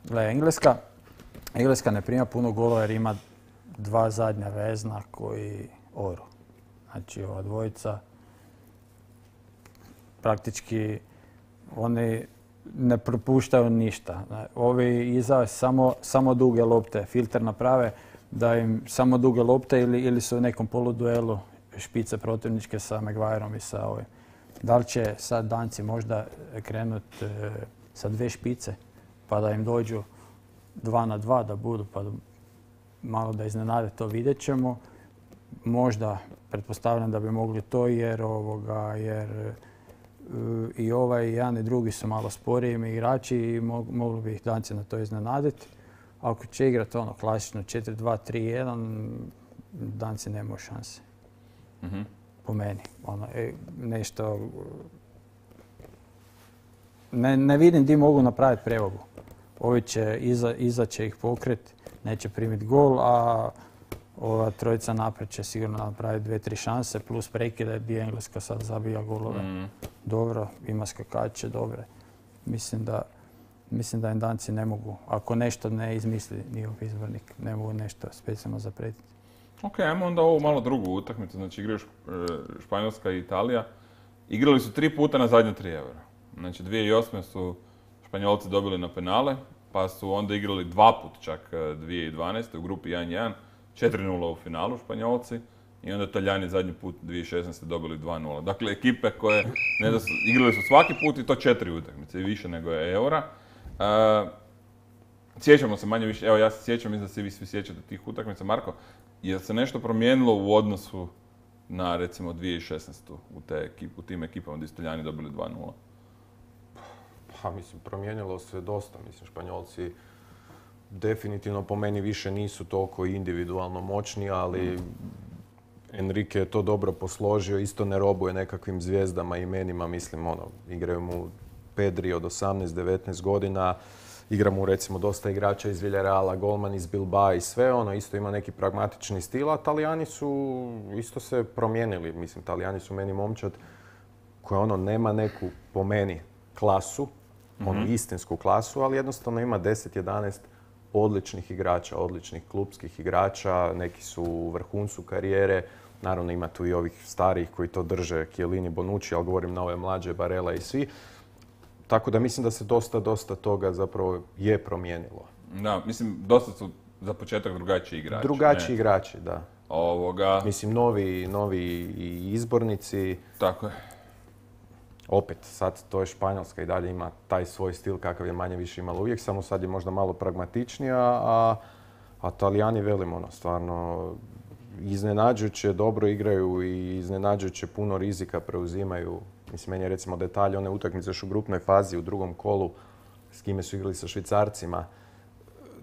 Gle, Engleska ne prima puno golova jer ima 2 zadnja vezna koji oru. Znači ova dvojica praktički oni ne propuštaju ništa. Ovi iza samo duge lopte, filter naprave da im samo duge lopte ili su u nekom poluduelu špice protivničke sa Maguireom i sa ovim. Da li će sad Danci možda krenuti sa 2 špice pa da im dođu 2 na 2 da budu pa malo da iznenade, to vidjet ćemo. Možda pretpostavljam da bi mogli to jer i ovaj i jedan i drugi su malo sporiji igrači i mogli bi ih Danci na to iznenaditi. Ako će igrati ono klasično 4-2-3-1, Danci nemaju šanse. Po meni. Nešto... Ne vidim gdje mogu napraviti prevagu. Ovi će, iza će ih pokriti, neće primiti gol, a ova trojica naprijed će sigurno napraviti 2-3 šanse, plus prekide gdje Engleska sad zabija golove. Dobro, ima skakače, dobre. Mislim da im Danci ne mogu, ako nešto ne izmisli njihov izbornik, ne mogu nešto specijalno zapretiti. Ok, ajmo onda ovu malo drugu utakmicu, znači igraju Španjolska i Italija. Igrali su 3 puta na zadnje 3 eura. Znači 2008. su Španjolci dobili na penale, pa su onda igrali 2 puta čak 2012. u grupi 1-1, 4-0 u finalu Španjolci i onda Italijani zadnji put 2016. dobili 2-0. Dakle, ekipe koje igrali su svaki put i to 4 utakmice i više nego je eura. Sjećamo se manje više, evo ja se sjećam, mislim da se vi svi sjećate tih utakmica. Marko, je se nešto promijenilo u odnosu na recimo 2016. u tim ekipama gdje su Italijani dobili 2-0? Pa mislim, promijenilo se dosta. Mislim, Španjolci definitivno po meni više nisu toliko individualno moćni, ali Enrique je to dobro posložio, isto ne robuje nekakvim zvijezdama i imenima, mislim, igraju mu Pedri od 18-19 godina, igra mu recimo dosta igrača iz Villarreala, golman iz Bilbao i sve, isto ima neki pragmatični stil, a Talijani su isto se promijenili, mislim, Talijani su meni momčad koja nema neku, po meni, klasu, istinsku klasu, ali jednostavno ima 10-11 odličnih igrača, odličnih klupskih igrača, neki su u vrhuncu karijere, naravno ima tu i ovih starijih koji to drže, Chiellini, Bonucci, ali govorim na ove mlađe, Barella i svi. Tako da mislim da se dosta toga zapravo je promijenilo. Da, mislim, dosta su za početak drugačiji igrači. Drugačiji igrači, da. Mislim, novi izbornici. Tako je. Opet, sad to je Španjolska i dalje ima taj svoj stil kakav je manje više imala uvijek, samo sad je možda malo pragmatičnija, a Talijani velimo, stvarno iznenađujuće dobro igraju i iznenađujuće puno rizika preuzimaju. Mislim, meni je recimo detalj one utakmice još u grupnoj fazi u drugom kolu s kime su igrali sa Švicarcima.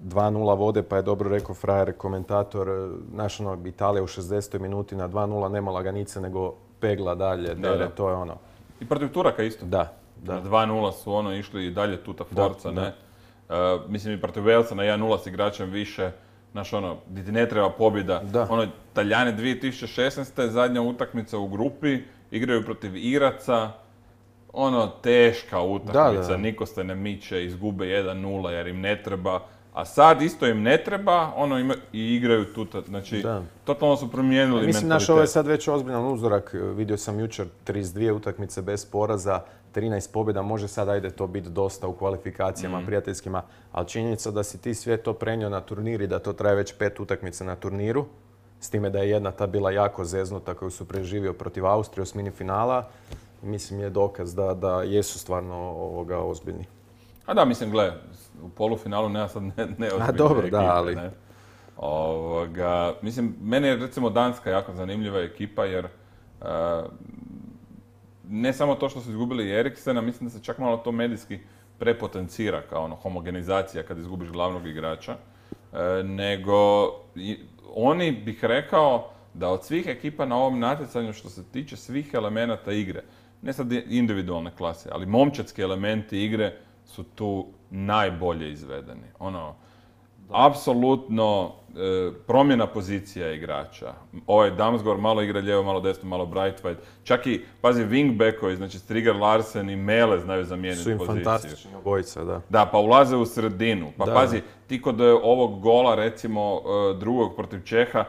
2-0 vode, pa je dobro rekao frajer komentator, Italija u 60. minuti na 2-0 nema lanice nego pegla dalje, to je I protiv Turaka isto. Da. Na 2-0 su išli i dalje tuta forca, ne? Mislim i protiv Walesa na 1-0 s igračem više, gdje ti ne treba pobjeda. Talijani 2016. zadnja utakmica u grupi, igraju protiv Iraca, teška utakmica, niko se ne miče, izgube 1-0 jer im ne treba. A sad isto im ne treba, i igraju tuta, znači totalno su promijenili mentalitet. Mislim, ovo je sad već ozbiljan uzorak, vidio sam jučer 32 utakmice bez poraza, 13 pobjeda, može sad ajde to biti dosta u kvalifikacijama prijateljskima, ali činjenica da si ti sve to prenio na turnir i da to traje već 5 utakmica na turniru, s time da je jedna ta bila jako zeznuta koju su preživio protiv Austrije u osmini finala, mislim je dokaz da jesu stvarno ozbiljni. A da, mislim, gle, u polufinalu nema sad neozbiljne dobro, ekipe, ali... ne? Mislim, meni je recimo Danska jako zanimljiva ekipa jer ne samo to što su izgubili Eriksena, mislim da se čak malo to medijski prepotencira kao ono homogenizacija kad izgubiš glavnog igrača, nego oni bih rekao da od svih ekipa na ovom natjecanju što se tiče svih elemenata igre, ne sad individualne klase, ali momčadski elementi igre su tu najbolje izvedeni. Apsolutno promjena pozicija igrača. Ovaj Damsgaard malo igra lijevo, malo desno, malo Braithwaite. Čak i, pazi, wingbackovi, znači Strigar Larsen i Mele znaju zamijeniti poziciju. Su im fantastični obojica, da. Da, pa ulaze u sredinu. Pa da. Pazi, ti kod ovog gola, recimo, drugog protiv Čeha,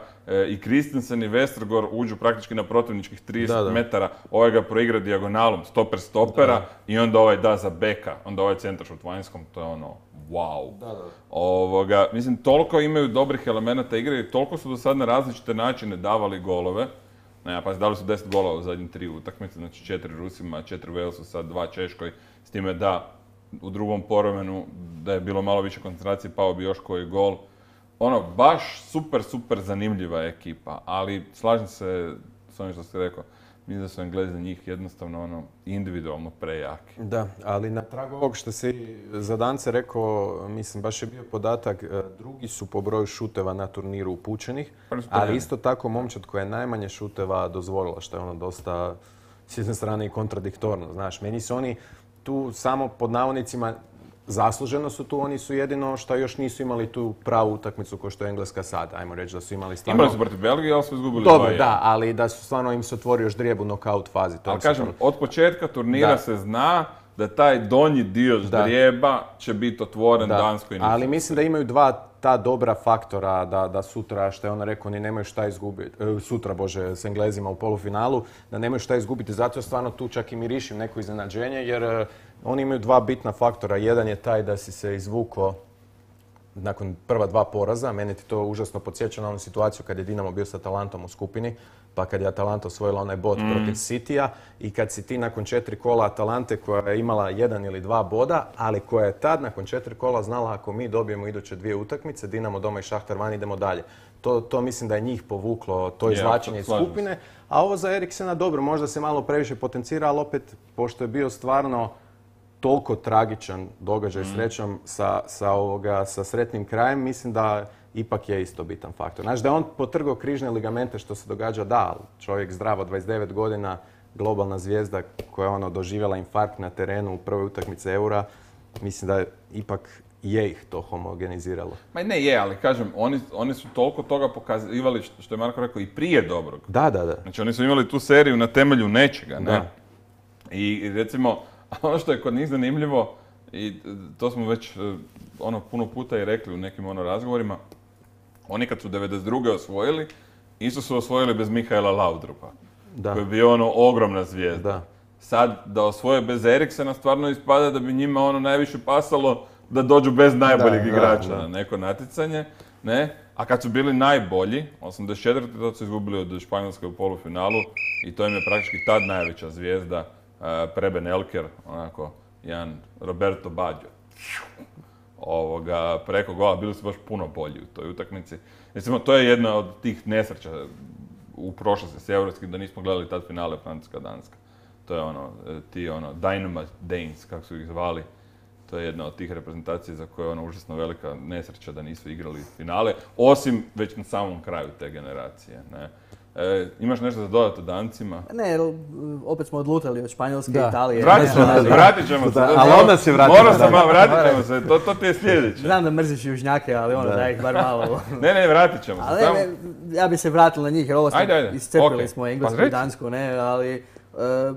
i Christensen i Westergaard uđu praktički na protivničkih 30 metara, ovaj ga proigra dijagonalom, stopera, i onda ovaj da za beka, onda ovaj centaršut vanjskom, to je wow. Mislim, toliko imaju dobrih elemenata igre i toliko su do sad na različite načine davali golove. Pazi, dali su 10 golova u zadnjih 3 utakmice, znači 4 Rusima, 4 Walesu, sad 2 Češkoj, s time da u drugom povremenu, da je bilo malo više koncentracije, pao bi još koji gol. Baš super zanimljiva ekipa, ali slažem se s onim što ste rekao. Mislim da su Englezi za njih jednostavno individualno prejaki. Da, ali na tragu ovog što si za Dance rekao, mislim, baš je bio podatak, drugi su po broju šuteva na turniru upućenih, ali isto tako momčad koja je najmanje šuteva dozvolila, što je dosta s jedne strane i kontradiktorno. Znaš, meni su oni tu samo pod navodnicima zasluženo su tu, oni su jedino što još nisu imali tu pravu utakmicu kao što je Engleska sad. Ajmo reći da su imali stvarno... Imali su protiv Belgije, ali su izgubili 2-1. Dobro, da, ali da su stvarno im se otvorio još ždrijeb u knockout fazi. Ali kažem, od početka turnira se zna da taj donji dio ždrijeba će biti otvoren Danskoj i Nizozemskoj. Ali mislim da imaju dva ta dobra faktora da sutra, što je ona rekao, oni nemaju šta izgubiti, sutra, s Englezima u polufinalu, da nemaju šta izgubiti, zato stvarno tu čak i mirišim neko iznenađenje, jer oni imaju dva bitna faktora. Jedan je taj da si se izvuko nakon prva 2 poraza. Mene ti to užasno podsjeća na onu situaciju kad je Dinamo bio sa Atalantom u skupini, pa kad je Atalanta osvojila onaj bod protiv Citya i kad si ti nakon 4 kola Atalante koja je imala 1 ili 2 boda, ali koja je tad nakon 4 kola znala ako mi dobijemo iduće 2 utakmice, Dinamo doma i Šahtar van, idemo dalje. To mislim da je njih povuklo, to izvlačenje iz skupine. A ovo za Eriksena, dobro, možda se malo previše potencira, ali opet, pošto je bio stvarno toliko tragičan događaj srećom sa sretnim krajem, mislim da ipak je isto bitan faktor. Znači da je on potrgao križne ligamente što se događa, da, ali čovjek zdrav od 29 godina, globalna zvijezda koja je doživjela infarkt na terenu u prvoj utakmici Eura, mislim da ipak je ih to homogeniziralo. Ma ne je, ali kažem, oni su toliko toga pokazivali, što je Marko rekao, i prije dobrog. Da. Znači oni su imali tu seriju na temelju nečega, ne? I recimo, ono što je kod njih zanimljivo, i to smo već puno puta i rekli u nekim razgovorima, oni kad su 92. osvojili, isto su osvojili bez Mihaela Laudrupa, koji je bio ogromna zvijezda. Da. Sad, da osvoje bez Eriksena, stvarno ispada da bi njima najviše pasalo da dođu bez najboljeg igrača na neko natjecanje, ne? A kad su bili najbolji, 84. tad su izgubili od Španjolske u polufinalu i to im je praktički tad najveća zvijezda, Preben Elker, jedan Roberto Baggio. Preko gola, bili su baš puno bolji u toj utakmici. Recimo, to je jedna od tih nesreća u prošlosti s evropskim, da nismo gledali tad finale Francuska-Danska. To je ti Dynamite Danes, kako su ih zvali. To je jedna od tih reprezentacija za koje je užasno velika nesreća da nisu igrali finale, osim već na samom kraju te generacije. Ne? Imaš nešto za dodati o Dancima? Ne, opet smo odlutali od Španjolske i Italije. Vratit ćemo se. Ali onda se vratimo. Vratit ćemo se, to ti je sljedeće. Znam da mrziš južnjake, ali da ih bar malo... Ne, vratit ćemo se. Ali ja bi se vratila na njih, jer ovo iscepili smo Englesku i Dansku, ne, ali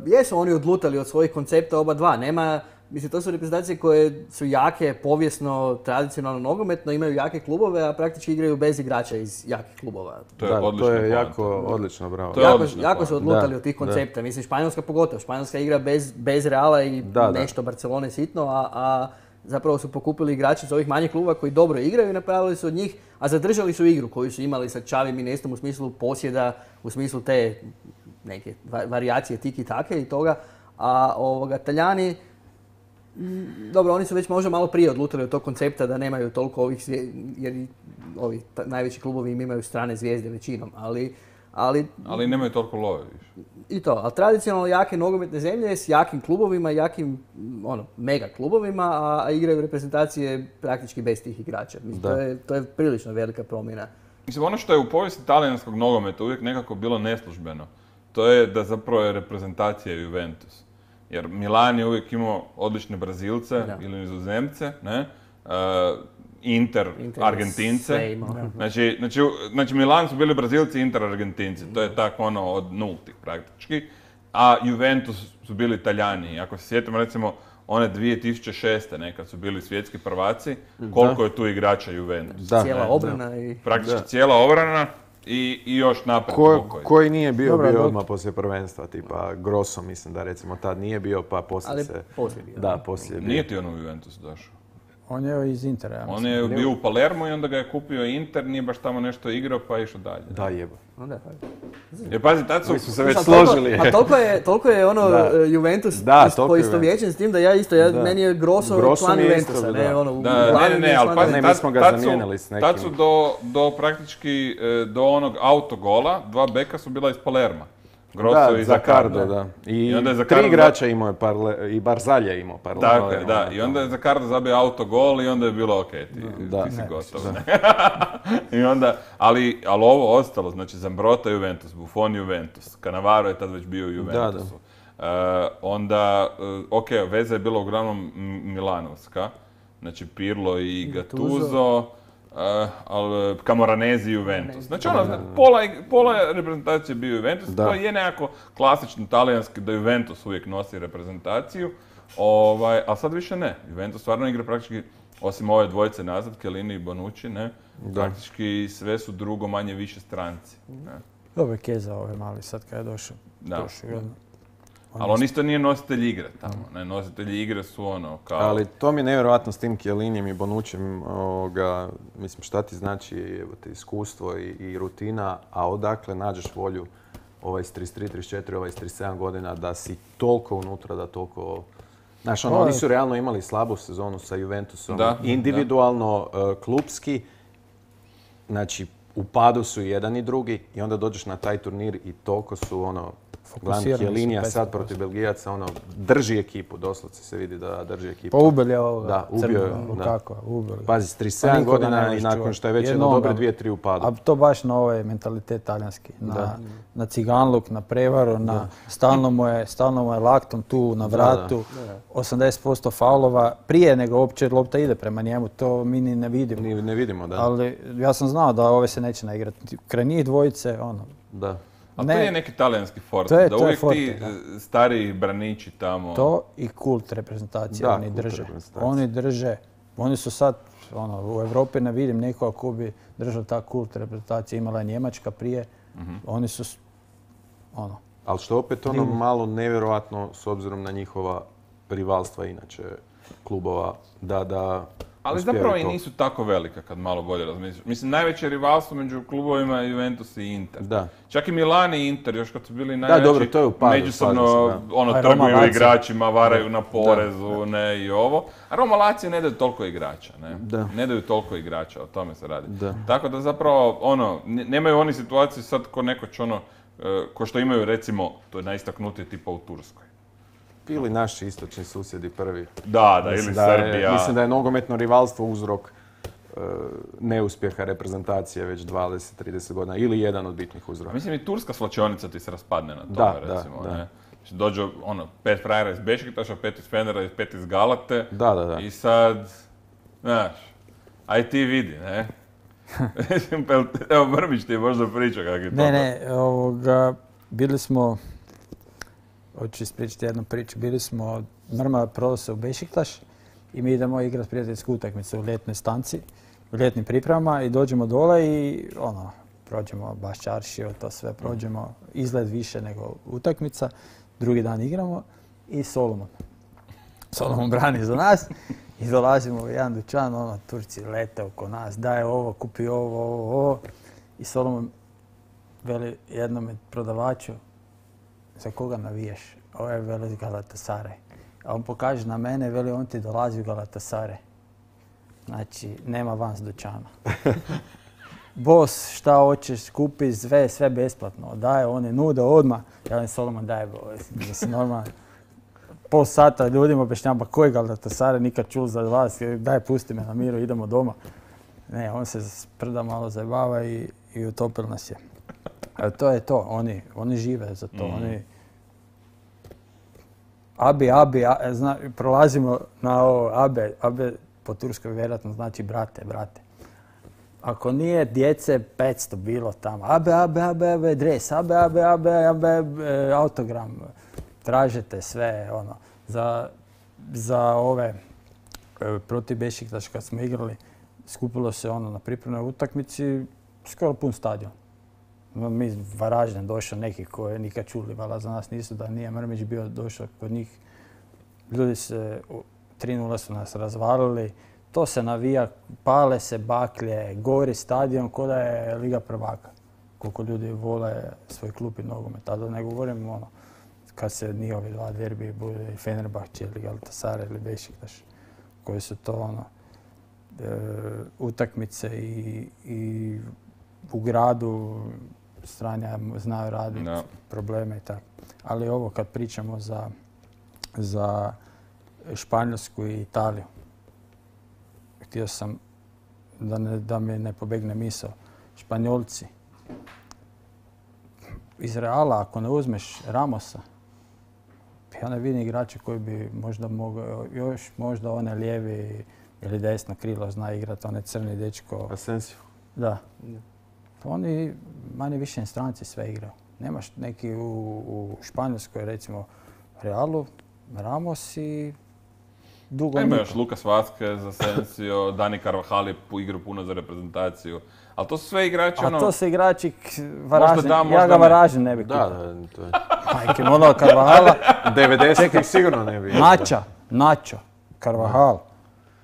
jesu oni odlutali od svojih koncepta oba dva. Nema, mislim, to su reprezentacije koje su jake, povijesno, tradicionalno, nogometno, imaju jake klubove, a praktički igraju bez igrača iz jakih klubova. To je jako odlično, bravo. Jako su odlutali od tih koncepta. Mislim, Španjolska pogotovo. Španjolska igra bez Reala i nešto Barcelone sitno, a zapravo su pokupili igrače iz ovih manjih klubova koji dobro igraju i napravili su od njih, a zadržali su igru koju su imali sa Xavim i Iniestom u smislu posjeda, u smislu te neke varijacije tiki-take i toga. A Talijani, dobro, oni su već možda malo prije odlutali od tog koncepta da nemaju toliko ovih jer ovi najveći klubovi im imaju strane zvijezde većinom, ali Ali nemaju toliko love više. I to, ali tradicionalno jake nogometne zemlje s jakim klubovima, jakim mega klubovima, a igraju reprezentacije praktički bez tih igrača. Mislim, to je prilično velika promjena. Mislim, ono što je u povijesti talijanskog nogometa uvijek nekako bilo neslužbeno, to je da zapravo je reprezentacija Juventus. Jer Milan je uvijek imao odlične Brazilce ili Nizozemce, ne? Inter Argentince. Znači Milan su bili Brazilci, Inter Argentinci. To je tako od nultih praktički. A Juventus su bili Italijani. Ako se sjetimo recimo one 2006. nekad su bili svjetski prvaci, koliko je tu igrača Juventus. Cijela obrana i... Praktički cijela obrana i još napred. Koji nije bio odmah poslije prvenstva, tipa Grosso mislim da recimo tad nije bio, pa poslije se... Ali poslije bio. Da, poslije bio. Nije ti on u Juventus došao? On je iz Intera, ja mislim. On je bio u Palermu i onda ga je kupio Inter, nije baš tamo nešto igrao pa je išao dalje. Da, jebo. Jer pazi, tad su se već složili. A toliko je Juventus poistovjećen s tim da meni je Grosso član Juventusa. Ne, ali pazi, mi smo ga zamijenili s nekim. Tad su do praktički, do onog autogola, dva beka su bila iz Palerma. Grosso i Zaccardo, da. I tri igrača imao je, i Barzagli je imao par. Tako je, da. I onda je Zaccardo zabio autogol i onda je bilo okej, ti si gotov. I onda, ali ovo ostalo, znači Zambrotta Juventus, Buffon Juventus, Cannavaro je tad već bio u Juventusu. Onda, veza je bila uglavnom milanovska, znači Pirlo i Gattuso. Camoranesi i Juventus. Znači pola reprezentacije bio Juventus, to je nekako klasično talijanski da Juventus uvijek nosi reprezentaciju, ali sad više ne. Juventus stvarno igra praktički, osim ove dvojice nazad, Chiellini i Bonucci, ne, praktički sve su drugo manje više stranci. Dobro je Keza mali sad kad je došao. Ali on isto nije nositelj igre tamo, ne, nositelji igre su kao... Ali to mi je nevjerojatno s tim Chiellinijem i Bonuccijem, mislim šta ti znači iskustvo i rutina, a odakle nađeš volju ovaj s 33, 34, ovaj s 37 godina da si toliko unutra, da toliko... Znaš, oni su realno imali slabu sezonu sa Juventusom, individualno, klupski, znači u padu su jedan i drugi i onda dođeš na taj turnir i toliko su gledam Chiellinija sad protiv Belgijaca, drži ekipu, doslovce se vidi da drži ekipu. Pa ubili je ovoga. Da, ubio je. Lukakova, ubili. Pazi, s 37 godina i nakon što je već jedno dobre 2-3 u padu. A to baš na ovaj mentalitet talijanski. Na ciganluk, na prevaru, na stalno mu je laktom tu na vratu. 80% faulova prije nego uopće lopta ide prema njemu, to mi ni ne vidimo. Ne vidimo, da. Ali ja sam znao da ove se neće naigrati. Kraj njih dvojice, Da. Ali to je neki talijanski forte, da uvijek ti stariji braniči tamo... To i kult reprezentacije oni drže. Oni drže, oni su sad, u Europi ne vidim nekoga ko bi držao ta kult reprezentacije. Imala je Njemačka prije, oni su, Ali što opet malo nevjerojatno s obzirom na njihova rivalstva inače klubova, da ali zapravo i nisu tako velika kad malo bolje razmisliš. Mislim, najveće rivalstvo među klubovima je Juventus i Inter. Da. Čak i Milan i Inter, još kad su bili najveći, to je u padu, međusobno trguju igračima, varaju na porezu, ne, i ovo. A Roma Lazio ne daju toliko igrača, ne? Ne daju toliko igrača, o tome se radi. Tako da zapravo, nemaju oni situaciju sad ko nekoć ko što imaju recimo, to je najistaknutije tipa u Turskoj. Ili naši istočni susjedi prvi. Da, ili Srbija. Mislim da je nogometno rivalstvo uzrok neuspjeha reprezentacije već 20-30 godina ili jedan od bitnih uzroka. Mislim i turska svlačionica ti se raspadne na tome, recimo. Ne? Dođu 5 frajera iz Bešiktaša, 5 iz Fenera, 5 iz Galate. Da. I sad, znaš, aj ti vidi, ne? Evo, Brmić ti je možda pričao kak je to. Ne, bili smo... Hoću ispričati jednu priču. Bili smo, Mrma prodao se u Bešiktaš i mi idemo igrati prijateljsku utakmicu u ljetnoj stanci, u ljetnim pripremama i dođemo dole i prođemo baš čaršiju, to sve prođemo, izgled više nego utakmica. Drugi dan igramo i Solomon brani za nas i dolazimo u jedan dućan, Turci lete oko nas, daj ovo, kupi ovo. I Solomon veli jednom prodavaču, za koga navijaš? Ovo je veli Galatasaray. A on pokaže na mene, veli on ti dolazi u Galatasaray. Znači, nema van s dućana. boss, šta hoćeš, kupi sve besplatno. Daje, oni nude odmah. Ja Solomon daje, mislim, normalno. Pol sata ljudima objašnjava, pa koji Galatasaray, nikad čul za vas, daj pusti me na miru, idemo doma. Ne, on se sprda malo zajebava i utopil nas je. To je to, oni žive za to. Oni... Abi, prolazimo na ovo, abe po turskoj vjerojatno znači brate. Ako nije djece 500 bilo tamo, abe, dres, abe, autogram, tražite sve, ono. Za ove protiv Bešiktaša kad smo igrali, skupilo se ono na pripremnoj utakmici, skoro pun stadion. Mi Varaždin došao neki koji nikad čuli, valjda za nas nisu, da nije Mrmić bio došao kod njih. Ljudi se 3:0 su nas razvalili, to se navija, pale se baklje, gori stadion ko da je Liga prvaka. Koliko ljudi vole svoj klub i nogomet. A da ne govorim ono, kad se njihovi dva derbi bude Fenerbahče ili Galatasaray ili Bešiktaš, koji su to ono, utakmice i u gradu stranja znaju raditi probleme i tako. Ali ovo kad pričamo za Španjolsku i Italiju, htio sam da mi ne pobegne misao. Španjolci, iz Reala ako ne uzmeš Ramosa, ja ne vidim igrača koji bi možda mogao, još možda one lijevi ili desno krilo zna igrati, onaj crni dečko. Asensio. Da. Oni manje više stranci sve igraju. Nemaš neki u Španjolskoj, recimo Realu, Ramos i dugo ima još Lucas Vazquez, Asensio, Dani Carvajal je igrao puno za reprezentaciju. Ali to su sve igrači ono... A to su igrači Varaždin. Da, ja ga Varaždin ne bi kupio. Da, to je... Majke, ono Carvajala. 90-ih sigurno ne bi. Nacho, Carvajal,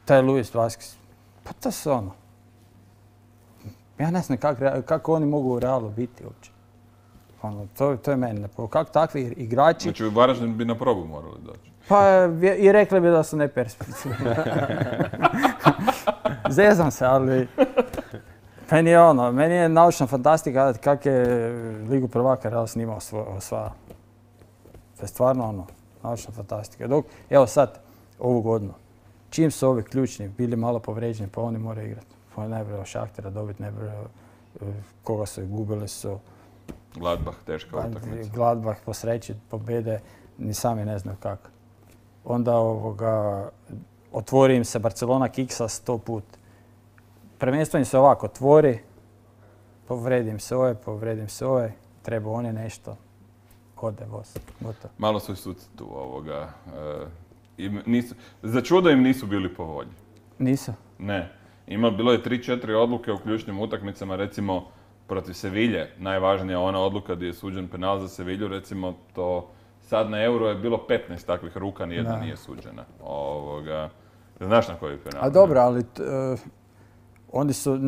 taj Luis Vazquez. Pa to su ono. Ja ne znam kako oni mogu u Realu biti uopće. Ono, to je meni nepovedno. Kako takvi igrači... Znači u Varaždin bi na probu morali doći. Pa i rekli bi da su neperspektivni. Zezam se, ali... Meni je naučna fantastika kak je Ligu prvaka Real snimao osvaja. To je stvarno ono, naučna fantastika. Dok, evo sad, ovu godinu, čim su ovi ključni bili malo povređeni, pa oni moraju igrati. Pa najbolje Šahtera dobiti, najbolje koga su gubili su... Gladbach, teška utakmica. Gladbach po sreći pobjede, ni sami ne znaju kako. Onda otvori im se Barcelona kiksa 100 put. Prvenstvo im se ovako otvori, povredim se ovaj, treba oni nešto, ode voz, gotovo. Malo su i suci tu ovoga. Za čudo im nisu bili po volji. Nisu? Ne. Bilo je 3-4 odluke u ključnim utakmicama, recimo protiv Sevilje. Najvažnija ona odluka gdje je suđen penal za Sevilju, recimo to sad na Euro je bilo 15 takvih ruka, nijedna nije suđena. Znaš na koji penal? A dobro, ali oni su,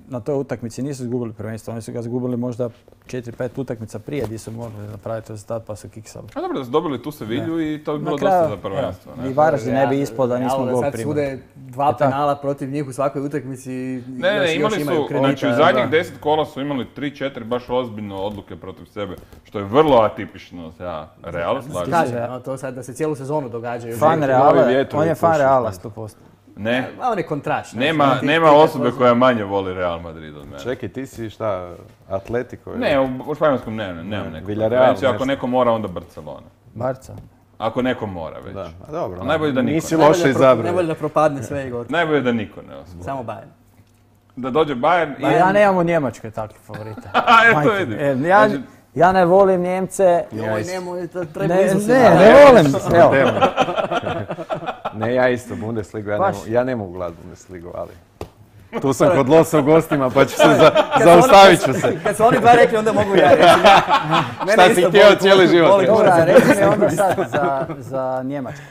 na toj utakmici nisu izgubili prvenstvo, oni su ga izgubili možda 4-5 utakmica prije gdje su morali napraviti rezultat pa su kiksali. A dobro, da su dobili tu Sevilju i to bi bilo dosta za prvenstvo. I Varaždin ne bi ispao da nismo gol primili. Sad sude 2 penala protiv njih u svakoj utakmici. Ne, imali su, znači u zadnjih 10 kola su imali 3-4 baš ozbiljno odluke protiv sebe, što je vrlo atipično za Real. Kaže, to sad da se cijelu sezonu događaju. On je fan Reala 100%. Ne. On je kontraš. Nema osobe koja manje voli Real Madrid od mene. Čekaj, ti si šta, Atletico? Ne, u Španjolskom nemam neko. Villarreal, ako neko mora, onda Barcelona. Barca? Ako neko mora već. Da, a dobro. Ali najbolje da niko nisi loše izabrao. Najbolje da propadne sve i gotovo. Najbolje da niko ne osvoji. Samo Bayern. Da dođe Bayern i... Ja nemam u Njemačkoj takve favorite. Eto vidim. Ja ne volim Njemce. Ne volim. Ne, ja isto Bundesligu, ja ne mogu gledati Bundesligu, ali... Tu sam kod Losa u gostima, pa ću se zaustavit ću se. Kad su oni dva rekli, onda mogu ja reći. Šta si htio cijeli život? Dobra, reći mi onda sad za Njemačku.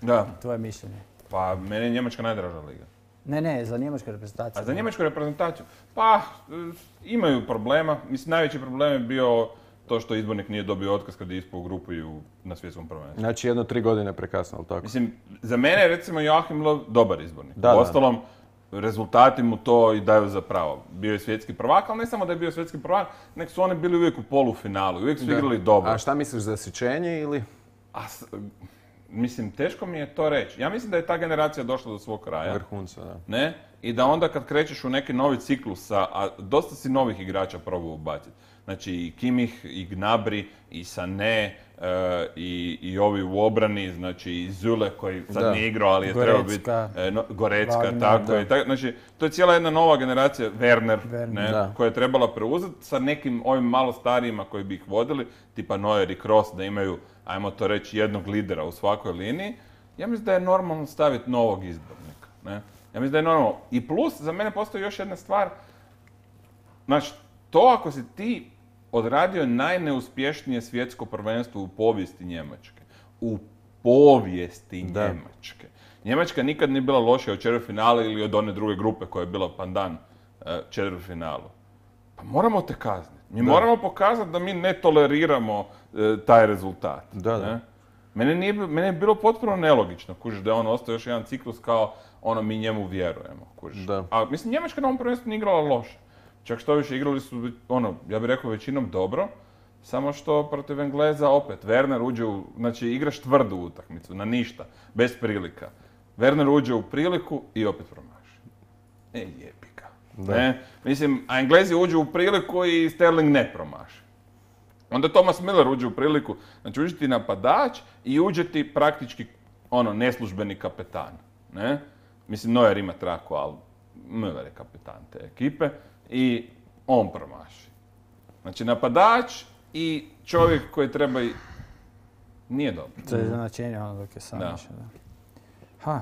Da. Tvoje mišljenje. Pa, meni je Njemačka najdraža liga. Ne, za njemačku reprezentaciju. A za njemačku reprezentaciju? Pa, imaju problema. Mislim, najveći problem je bio to što izbornik nije dobio otkaz kad je ispao u grupu i na svjetskom prvenstvu. Znači 1-3 godine prekasno, ali tako? Mislim, za mene je recimo Joachim Löw dobar izbornik. Da, Uostalom, rezultati mu to i daju za pravo. Bio je svjetski prvak, ali ne samo da je bio svjetski prvak, nego su oni bili uvijek u polufinalu, uvijek su igrali dobro. A šta misliš, zasićenje ili? Mislim, teško mi je to reći. Ja mislim da je ta generacija došla do svog kraja. Vrhunca, da. Ne? I da onda kad krećeš u neki novi ciklus, a dosta si novih igrača probao ubaciti. Znači i Kimmich, i Gnabry, i Sané, i ovi u obrani, znači i Zule koji sad nije igrao, ali je trebao biti Gorecka, Wagner, tako je. Znači, to je cijela jedna nova generacija, Werner, koja je trebala preuzeti sa nekim ovim malo starijima koji bi ih vodili, tipa Neuer i Kroos, da imaju, ajmo to reći, jednog lidera u svakoj liniji. Ja mislim da je normalno staviti novog izbornika. Ne? Ja mislim da je normalno. I plus, za mene postoji još jedna stvar, znači, to ako si ti odradio najneuspješnije svjetsko prvenstvo u povijesti Njemačke. U povijesti Njemačke. Njemačka nikad nije bila lošija od četvrtfinala ili od one druge grupe koja je bila pandan četvrtfinalu. Pa moramo te kazniti. Mi moramo pokazati da mi ne toleriramo taj rezultat. Mene je bilo potpuno nelogično, kužiš, da je on ostao još jedan ciklus kao ono mi njemu vjerujemo, kužiš. A mislim, Njemačka na ovom prvenstvu nije igrala loše. Čak što više, igrali su, ja bih rekao, većinom dobro, samo što protiv Engleza opet, Werner uđe znači igraš tvrdu utakmicu, na ništa, bez prilika. Werner uđe u priliku i opet promaši. Jebi ga. Mislim, a Englezi uđu u priliku i Sterling ne promaši. Onda Thomas Müller uđe u priliku, znači uđe ti napadač i uđe ti praktički, neslužbeni kapetan. Ne? Mislim, Neuer ima traku, ali Müller je kapetan te ekipe. I on promaši. Znači napadač i čovjek koji treba nije dobro. To je značenje dok je sam išao.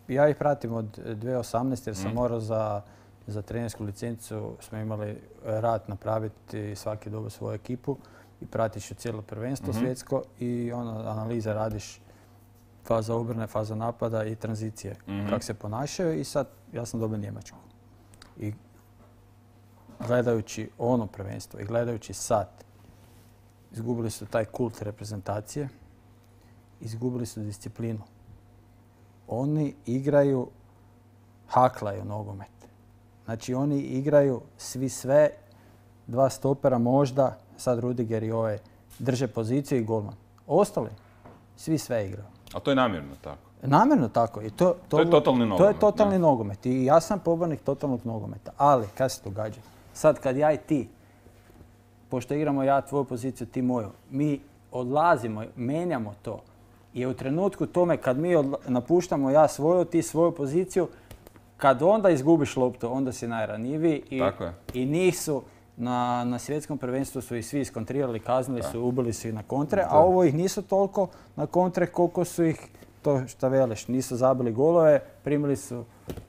Ja ih pratim od 2018. jer sam morao za trenersku licencu, smo imali rad napraviti svaki dobu svoju ekipu i pratiš cijelo prvenstvo svjetsko i analiza radiš faza obrane, faza napada i tranzicije. Kako se ponašaju i sad ja sam dobio Njemačku. I gledajući ono prvenstvo i gledajući sad, izgubili su taj kult reprezentacije, izgubili su disciplinu. Oni igraju, haklaju nogomet. Znači oni igraju svi sve, dva stopera možda, sad Rudiger i ovaj, drže poziciju i golman. Ostali, svi sve igraju. A to je namjerno tako? Namjerno tako. I to je totalni nogomet. To je totalni nogomet. I ja sam pobornik totalnog nogometa. Ali, kad se događa? Sad kad ja i ti, pošto igramo ja tvoju poziciju, ti moju, mi odlazimo, menjamo to. I u trenutku tome kad mi napuštamo ja svoju, ti svoju poziciju, kad onda izgubiš loptu, onda si najranjiviji. I njih su na svjetskom prvenstvu su ih svi iskontrirali, kaznili su, ubili su ih na kontre, a ovo ih nisu toliko na kontre koliko su ih, to što veliš, nisu zabili golove, primili su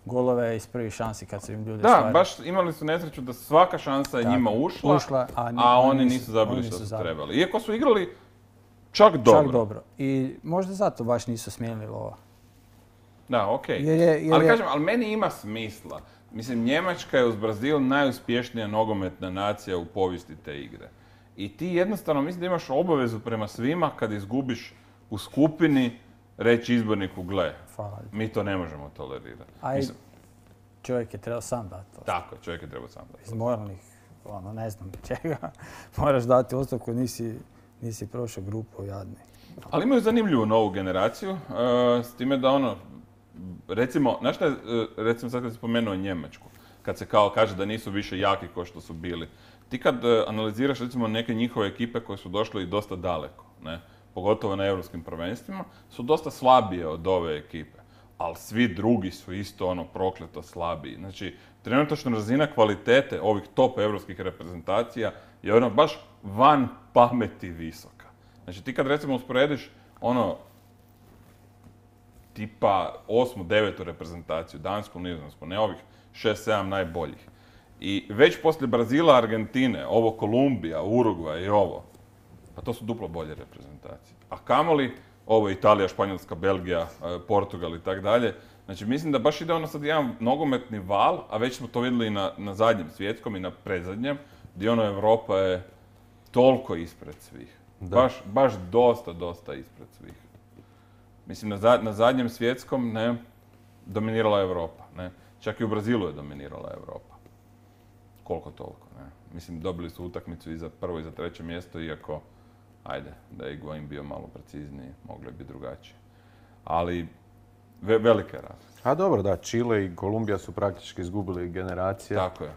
golove iz prvih šansi kad su im ljudi stvarili. Da, baš imali su nesreću da svaka šansa je njima ušla, a oni nisu zabili što su trebali. Iako su igrali čak dobro. I možda zato baš nisu smijenili lova. Da, okej. Ali kažem, ali meni ima smisla. Mislim, Njemačka je uz Brazil najuspješnija nogometna nacija u povijesti te igre. I ti jednostavno mislim da imaš obavezu prema svima kad izgubiš u skupini reći izborniku, gle, mi to ne možemo tolerirati. Čovjek je trebao sam dati to. Tako, čovjek je trebao sam dati. Iz moralnih, ne znam čega, moraš dati ostavku, nisi prošao grupu jadni. Ali imaju zanimljivu novu generaciju, s time da recimo, znaš šta je, recimo sad kad si spomenuo Njemačku, kad se kao kaže da nisu više jaki kao što su bili. Ti kad analiziraš recimo neke njihove ekipe koje su došle i dosta daleko, ne, pogotovo na europskim prvenstvima, su dosta slabije od ove ekipe. Ali svi drugi su isto prokleto slabiji. Znači, trenutačna razina kvalitete ovih top europskih reprezentacija je baš van pameti visoka. Znači, ti kad recimo usporediš tipa 8., 9. reprezentaciju, Dansku, Nizozemsku, ne ovih 6-7 najboljih. I već poslije Brazila, Argentine, ovo Kolumbija, Urugvaj i ovo, pa to su duplo bolje reprezentacije. A kamoli, ovo Italija, Španjolska, Belgija, Portugal i tak dalje. Znači mislim da baš ide sad jedan nogometni val, a već smo to vidjeli i na zadnjem svjetskom i na predzadnjem, gdje Europa je toliko ispred svih. Baš dosta ispred svih. Mislim, na zadnjem svjetskom dominirala Europa. Čak i u Brazilu je dominirala Europa. Koliko toliko, ne? Mislim, dobili su utakmicu i za prvo i za treće mjesto, iako, ajde, da je Higuaín bio malo precizniji, moglo bi drugačije. Ali, velike razlike. A dobro, da, Čile i Kolumbija su praktički izgubili generacije. Tako je.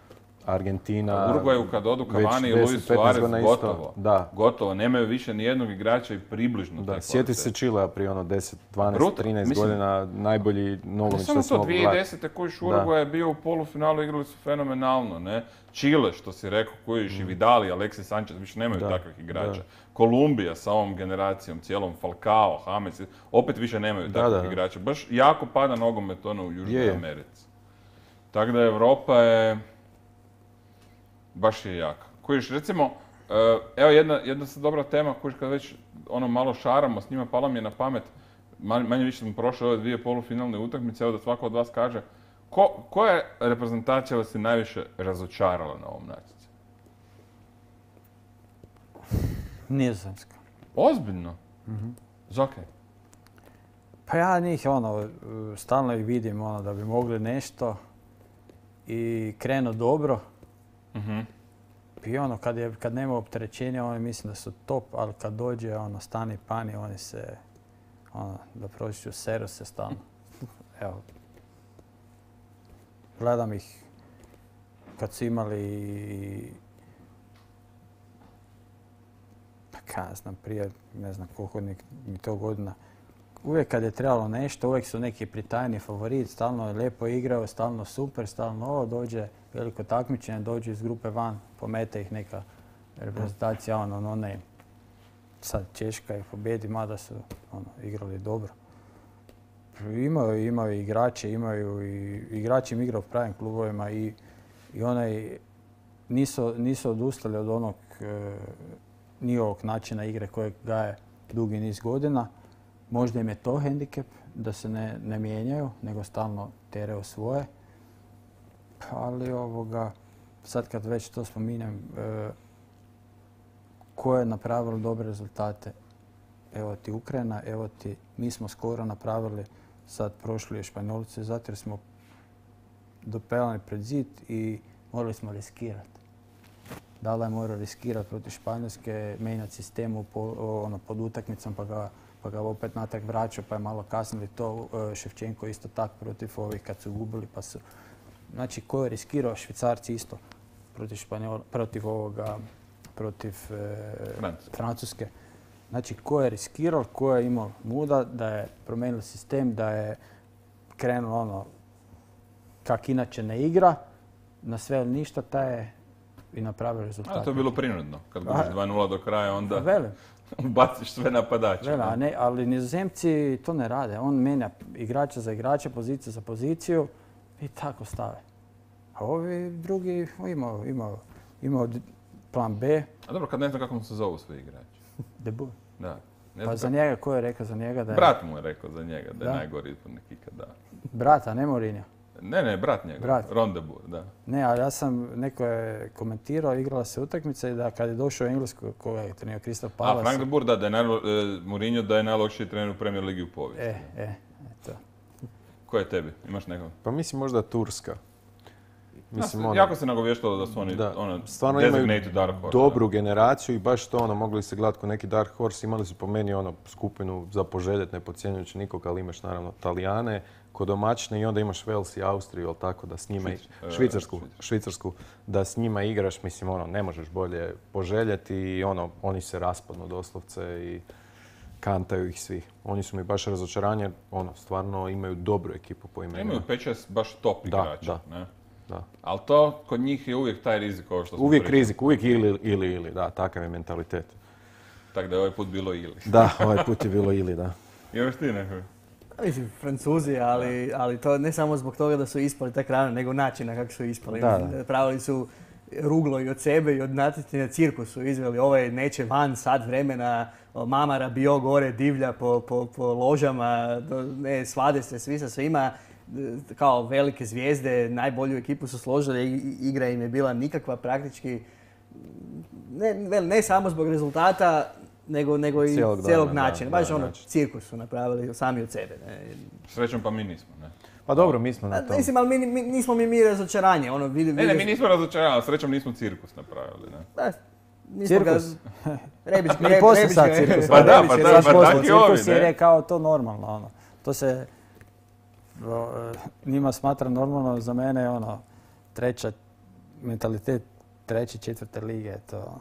Argentina... U Uruguayu kad odu Cavani i Luis Suarez, gotovo. Da. Gotovo, nemaju više ni jednog igrača i približno te kvalitete. Sjeti se Čilea prije 10, 12, 13 godina, najbolji nogomet što smo mogli gledati. Samo to, 2010. kojiš Uruguay je bio u polufinalu, igrali su fenomenalno, ne? Čile, što si rekao, kojiš i Vidal i Alexis Sanchez, više nemaju takvih igrača. Kolumbija sa ovom generacijom, cijelom Falcao, James, opet više nemaju takvih igrača. Baš jako pada nogomet ono u Južnoj Americi. Tako da Europa je... baš je jaka. Kojiš, recimo, evo jedna dobra tema, kojiš kad već ono malo šaramo s njima, pala mi je na pamet, manje više smo prošli ove dvije polufinalne utakmice, evo da svako od vas kaže, koja je reprezentacija vas je najviše razočarala na ovom natjecanju? Nizozemska. Ozbiljno? Zakaj? Pa ja njih stalno ih vidim da bi mogli nešto i krenu dobro. I kad nema opterećenja, oni mislim da su top, ali kad dođe stani pani, oni se, da prođu seru se stalno. Evo, gledam ih kad su imali, prije ne znam koliko mi to godina, uvijek kad je trebalo nešto, uvijek su neki pritajni favorit, stalno je lijepo igrao, stalno super, stalno dođe veliko takmičenje, dođu iz grupe van, pomete ih neka reprezentacija, ne. Sad Češka ih pobjedi, mada su igrali dobro. Imaju igrače, igrači im igraju u pravim klubovima i nisu odustali od onog njihovog načina igre kojeg gaje dugi niz godina. Možda im je to hendikep, da se ne mijenjaju, nego stalno teraju svoje. Ali sad kad već to spominjem, ko je napravilo dobre rezultate? Evo ti Ukrajina, evo ti, mi smo skoro napravili, sad prošli je Španjolci, zato jer smo dopelani pred zid i morali smo riskirati. Dala je morao riskirati protiv Španjolske, mijenjati sistemu pod utakmicom pa ga opet natrag vraćao, pa je malo kasnili to. Ševčenko isto tako protiv ovih kad su gubili, pa su... Znači, ko je riskirao? Švicarci isto protiv Francuske. Znači, ko je riskirao, ko je imao muda da je promijenio sistem, da je krenuo kak inače ne igra, na sve ili ništa, taj je i napravio rezultat. To je bilo prinudno. Kad gubiš 2:0 do kraja, onda baciš sve napadače. Ali Nizozemci to ne rade. On menja igrača za igrača, poziciju za poziciju i tako stave. A ovi drugi imaju plan B. A dobro, kad ne znam kako se zovu svi igrači. De Boer. Da. Pa za njega, ko je rekao za njega da je... Brat mu je rekao za njega da je najgori izbornik ikada. Brat, a ne Mourinho? Ne, brat njega. Ron de Boer, da. Ne, ali neko je komentirao, igrala se utakmica i da kad je došao u Englesku, koga je trenirao Crystal Palace... A Frank de Boer, da je Mourinho da je najlošiji trener u Premier Ligi u povijesti. Eto. Ko je tebi? Imaš nekog? Pa mislim možda Turska. Jako se nagovještalo da su oni stvarno imaju dobru generaciju i baš to mogli se gledati ko neki Dark Horse. Imali su po meni skupinu za poželjet, ne podcjenjujući nikog, ali imaš naravno Talijane, kod domaćine i onda imaš Wales i Austriju, ali tako da s njima Švicarsku, da s njima igraš, mislim ne možeš bolje poželjeti i oni se raspadnu doslovce i kantaju ih svi. Oni su mi baš razočaranje, stvarno imaju dobru ekipu po imenima. Imaju 5-6 baš top igrača, ne? Da. Ali to kod njih je uvijek taj rizik ovo što smo uvijek pričali. Rizik, uvijek ili, da, takav je mentalitet. Tako da je ovaj put bilo ili. Da, ovaj put je bilo ili, da. Imaš ti nekako? Mislim, Francuzi, ali to ne samo zbog toga da su ispali tak rano, nego načina kako su ispali. Pravili su ruglo i od sebe i od natjecanja, cirkus su izveli, ovaj neće van sat vremena, mama Rabiot gore divlja po ložama, svade se svi sa svima. Kao velike zvijezde, najbolju ekipu su složili, igra im je bila nikakva praktički, ne samo zbog rezultata, nego i cijelog načina. Baš cirkus su napravili sami od sebe. Srećom pa mi nismo, ne? Pa dobro, mi smo na tom. Mislim, ali nismo mi razočaranje. Ono, Ne, mi nismo razočarani, srećom nismo cirkus napravili. Ne? Cirkus? Rebić Mi poslije sad cirkus. Pa da, pa Sad poslije tako i ovi, cirkus jer ne? je kao to normalno. Ono. To se njima smatra normalno, za mene je ono mentalitet treće, četvrte lige. To.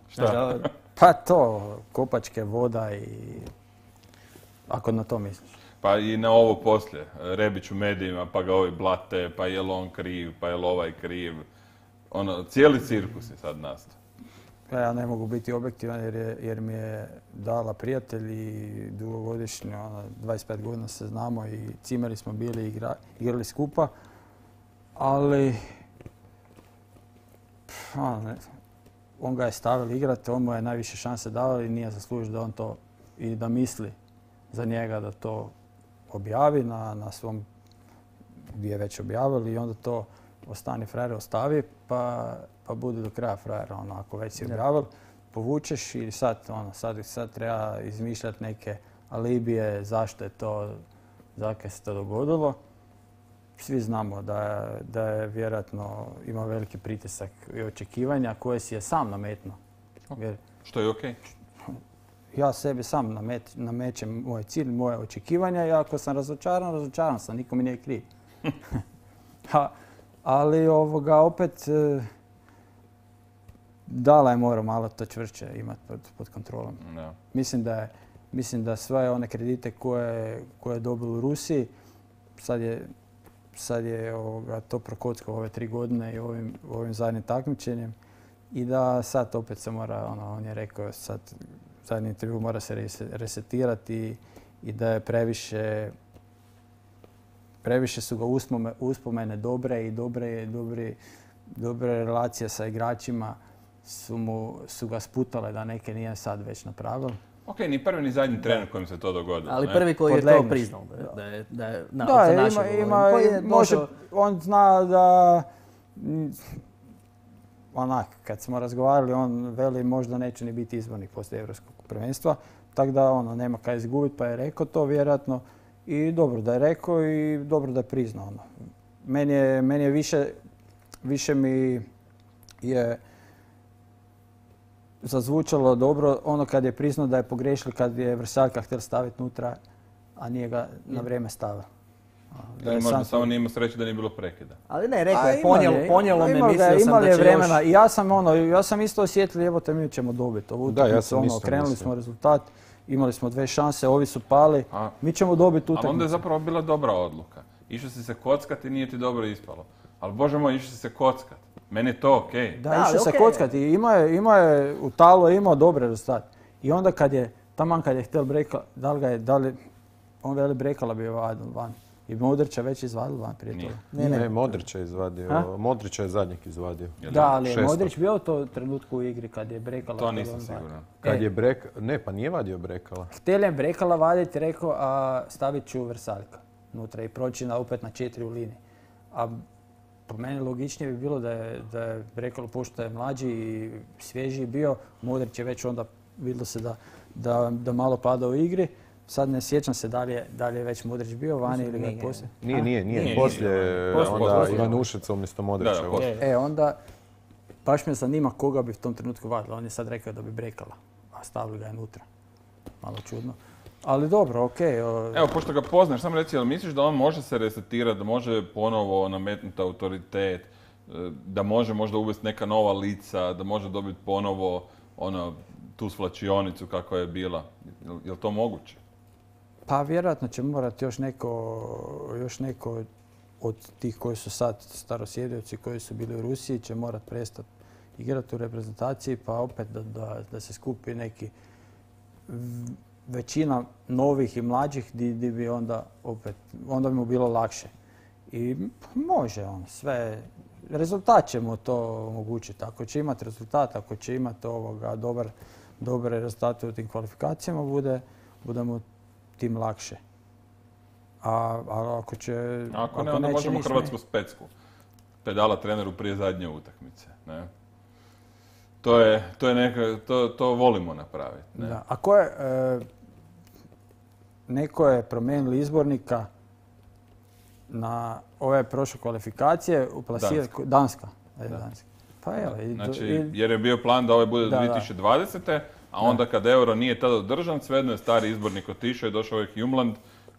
Šta? Pa to, kopačke, voda i ako na to misliš. Pa i na ovo poslije, Rebić u medijima, pa ga ovi blate, pa je li on kriv, pa je li ovaj kriv. Ono, cijeli cirkus je sad nastao. Ja ne mogu biti objektivan jer mi je dala prijatelj i dugogodišnji, 25 godina se znamo i cimeri smo bili igrali skupa, ali on ga je stavili igrati, on mu je najviše šanse davali i nije zaslužio da on to i da misli za njega da to objavi na svom gdje je već objavili i onda to ostani frajer ostavi pa bude do kraja frajer. Ako već si objavili, povučeš i sad treba izmišljati neke alibije zašto je to, zakaj se to dogodilo. Svi znamo da je vjerojatno ima veliki pritisak i očekivanja koje si je sam nametnuo. Što je okej. Ja sebi sam namećem moj cilj, moje očekivanja i ako sam razočaran sam, niko mi nije kriv. Ali opet Dala je morao malo to čvršće imati pod kontrolom. No. Mislim da sve one kredite koje je dobio u Rusiji, sad je to prokockao ove 3 godine i ovim zadnjim takmičenjem i da sad opet se mora, on je rekao sad zadnji intervju mora se resetirati i da je previše su ga uspomene dobre i dobre relacije sa igračima su ga sputale da neke nije sad već napravili. Ok, ni prvi ni zadnji trener kojem se to dogodilo. Ali prvi koji je to priznao on zna da kad smo razgovarali, on veli možda neće ni biti izbornik poslije Europskog prvenstva, tako da nema kaj izgubiti, pa je rekao to vjerojatno i dobro da je rekao i dobro da je priznao. Meni je više mi je zazvučalo dobro kad je priznao da je pogriješili kad je Vrsaljka htjeli staviti unutra, a nije ga na vrijeme stavio. Ili možda samo nije imao sreće da nije bilo prekida. Ali ne, rekao je, ponijelo me, mislio sam imali da će vremena. još... I ja sam isto osjetio, evo te mi ćemo dobiti ovu utakmicu, krenuli smo rezultat, imali smo 2 šanse, ovi su pali, mi ćemo dobiti utakmicu. Ali onda je zapravo bila dobra odluka. Išao si se kockati i nije ti dobro ispalo. Ali Bože moj, išao si se kockati. Meni je to okej. Da, išao se kockati i ima je u Talu imao dobre rezultat. I onda kad je htjel breka, on veli brekala bi van. I Modrića već izvadil van prije toga. Ne, Modrića je izvadio. Modrića je zadnjeg izvadio. Da, ali je Modrić bio u tom trenutku u igri kad je brekala. To nisam siguran. Pa nije vadio brekala. Htjeli je brekala vaditi, rekao, a stavit ću Vrsaljka unutra i proći opet na 4 u liniji. A po meni logičnije bi bilo da je brekalo, pošto je mlađi i svježiji bio, Modrić je već onda vidjelo se da malo pada u igri. Sad ne sjećam se da li je već Modrić bio vani ili ga je poslije. Nije. Poslije onda Ivanušica umjesto Modrića. Onda baš me zanima koga bi u tom trenutku vadila. On je sad rekao da bi brekala, a stavili ga je unutra. Malo čudno. Ali dobro, okej. Evo, pošto ga poznaš, samo reci, jel misliš da on može se resetirati, da može ponovo nametnuti autoritet, da može možda uvesti neka nova lica, da može dobiti ponovo tu svlačionicu kako je bila? Je li to moguće? Pa vjerojatno će morati još neko od tih koji su sad starosjedioci koji su bili u Rusiji će morati prestati igrati u reprezentaciji pa opet da se skupi neki većina novih i mlađih gdje bi onda bi mu bilo lakše. I može on sve, rezultat će mu to omogućiti. Ako će imati rezultat, ako će imati dobre rezultate u tim kvalifikacijama, bude mu tim lakše. A ako će... Ako ne, onda možemo hrvatsku specku. Pedala treneru prije zadnje utakmice. Ne? To volimo napraviti. Ne? Da. Ako je... neko je promijenili izbornika na ove prošle kvalifikacije uplasirati Danska. Danska. Pa evo. Znači, jer je bio plan da ovaj bude 2020. A onda kad euro nije tada održan, svejedno je stari izbornik otišao i došao ovaj Hjumland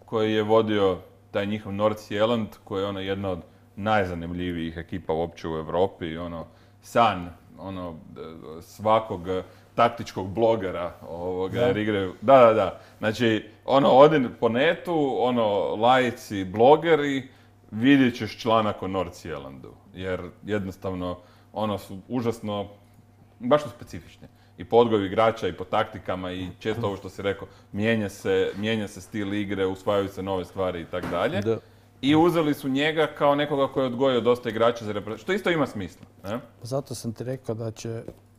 koji je vodio taj njihov Nordsjælland koji je jedna od najzanimljivijih ekipa uopće u Europi, san svakog taktičkog blogera jer igraju. Da. Znači, odin po netu, laici, blogeri, vidjet ćeš članak o Nordsjællandu. Jer jednostavno, su užasno, baš su specifični. I po odgoju igrača, i po taktikama, i često ovo što si rekao, mijenja se stil igre, usvajaju se nove stvari i tako dalje. I uzeli su njega kao nekoga koji je odgojio dosta igrača za reprezentaciju, što isto ima smisla. Ne? Zato sam ti rekao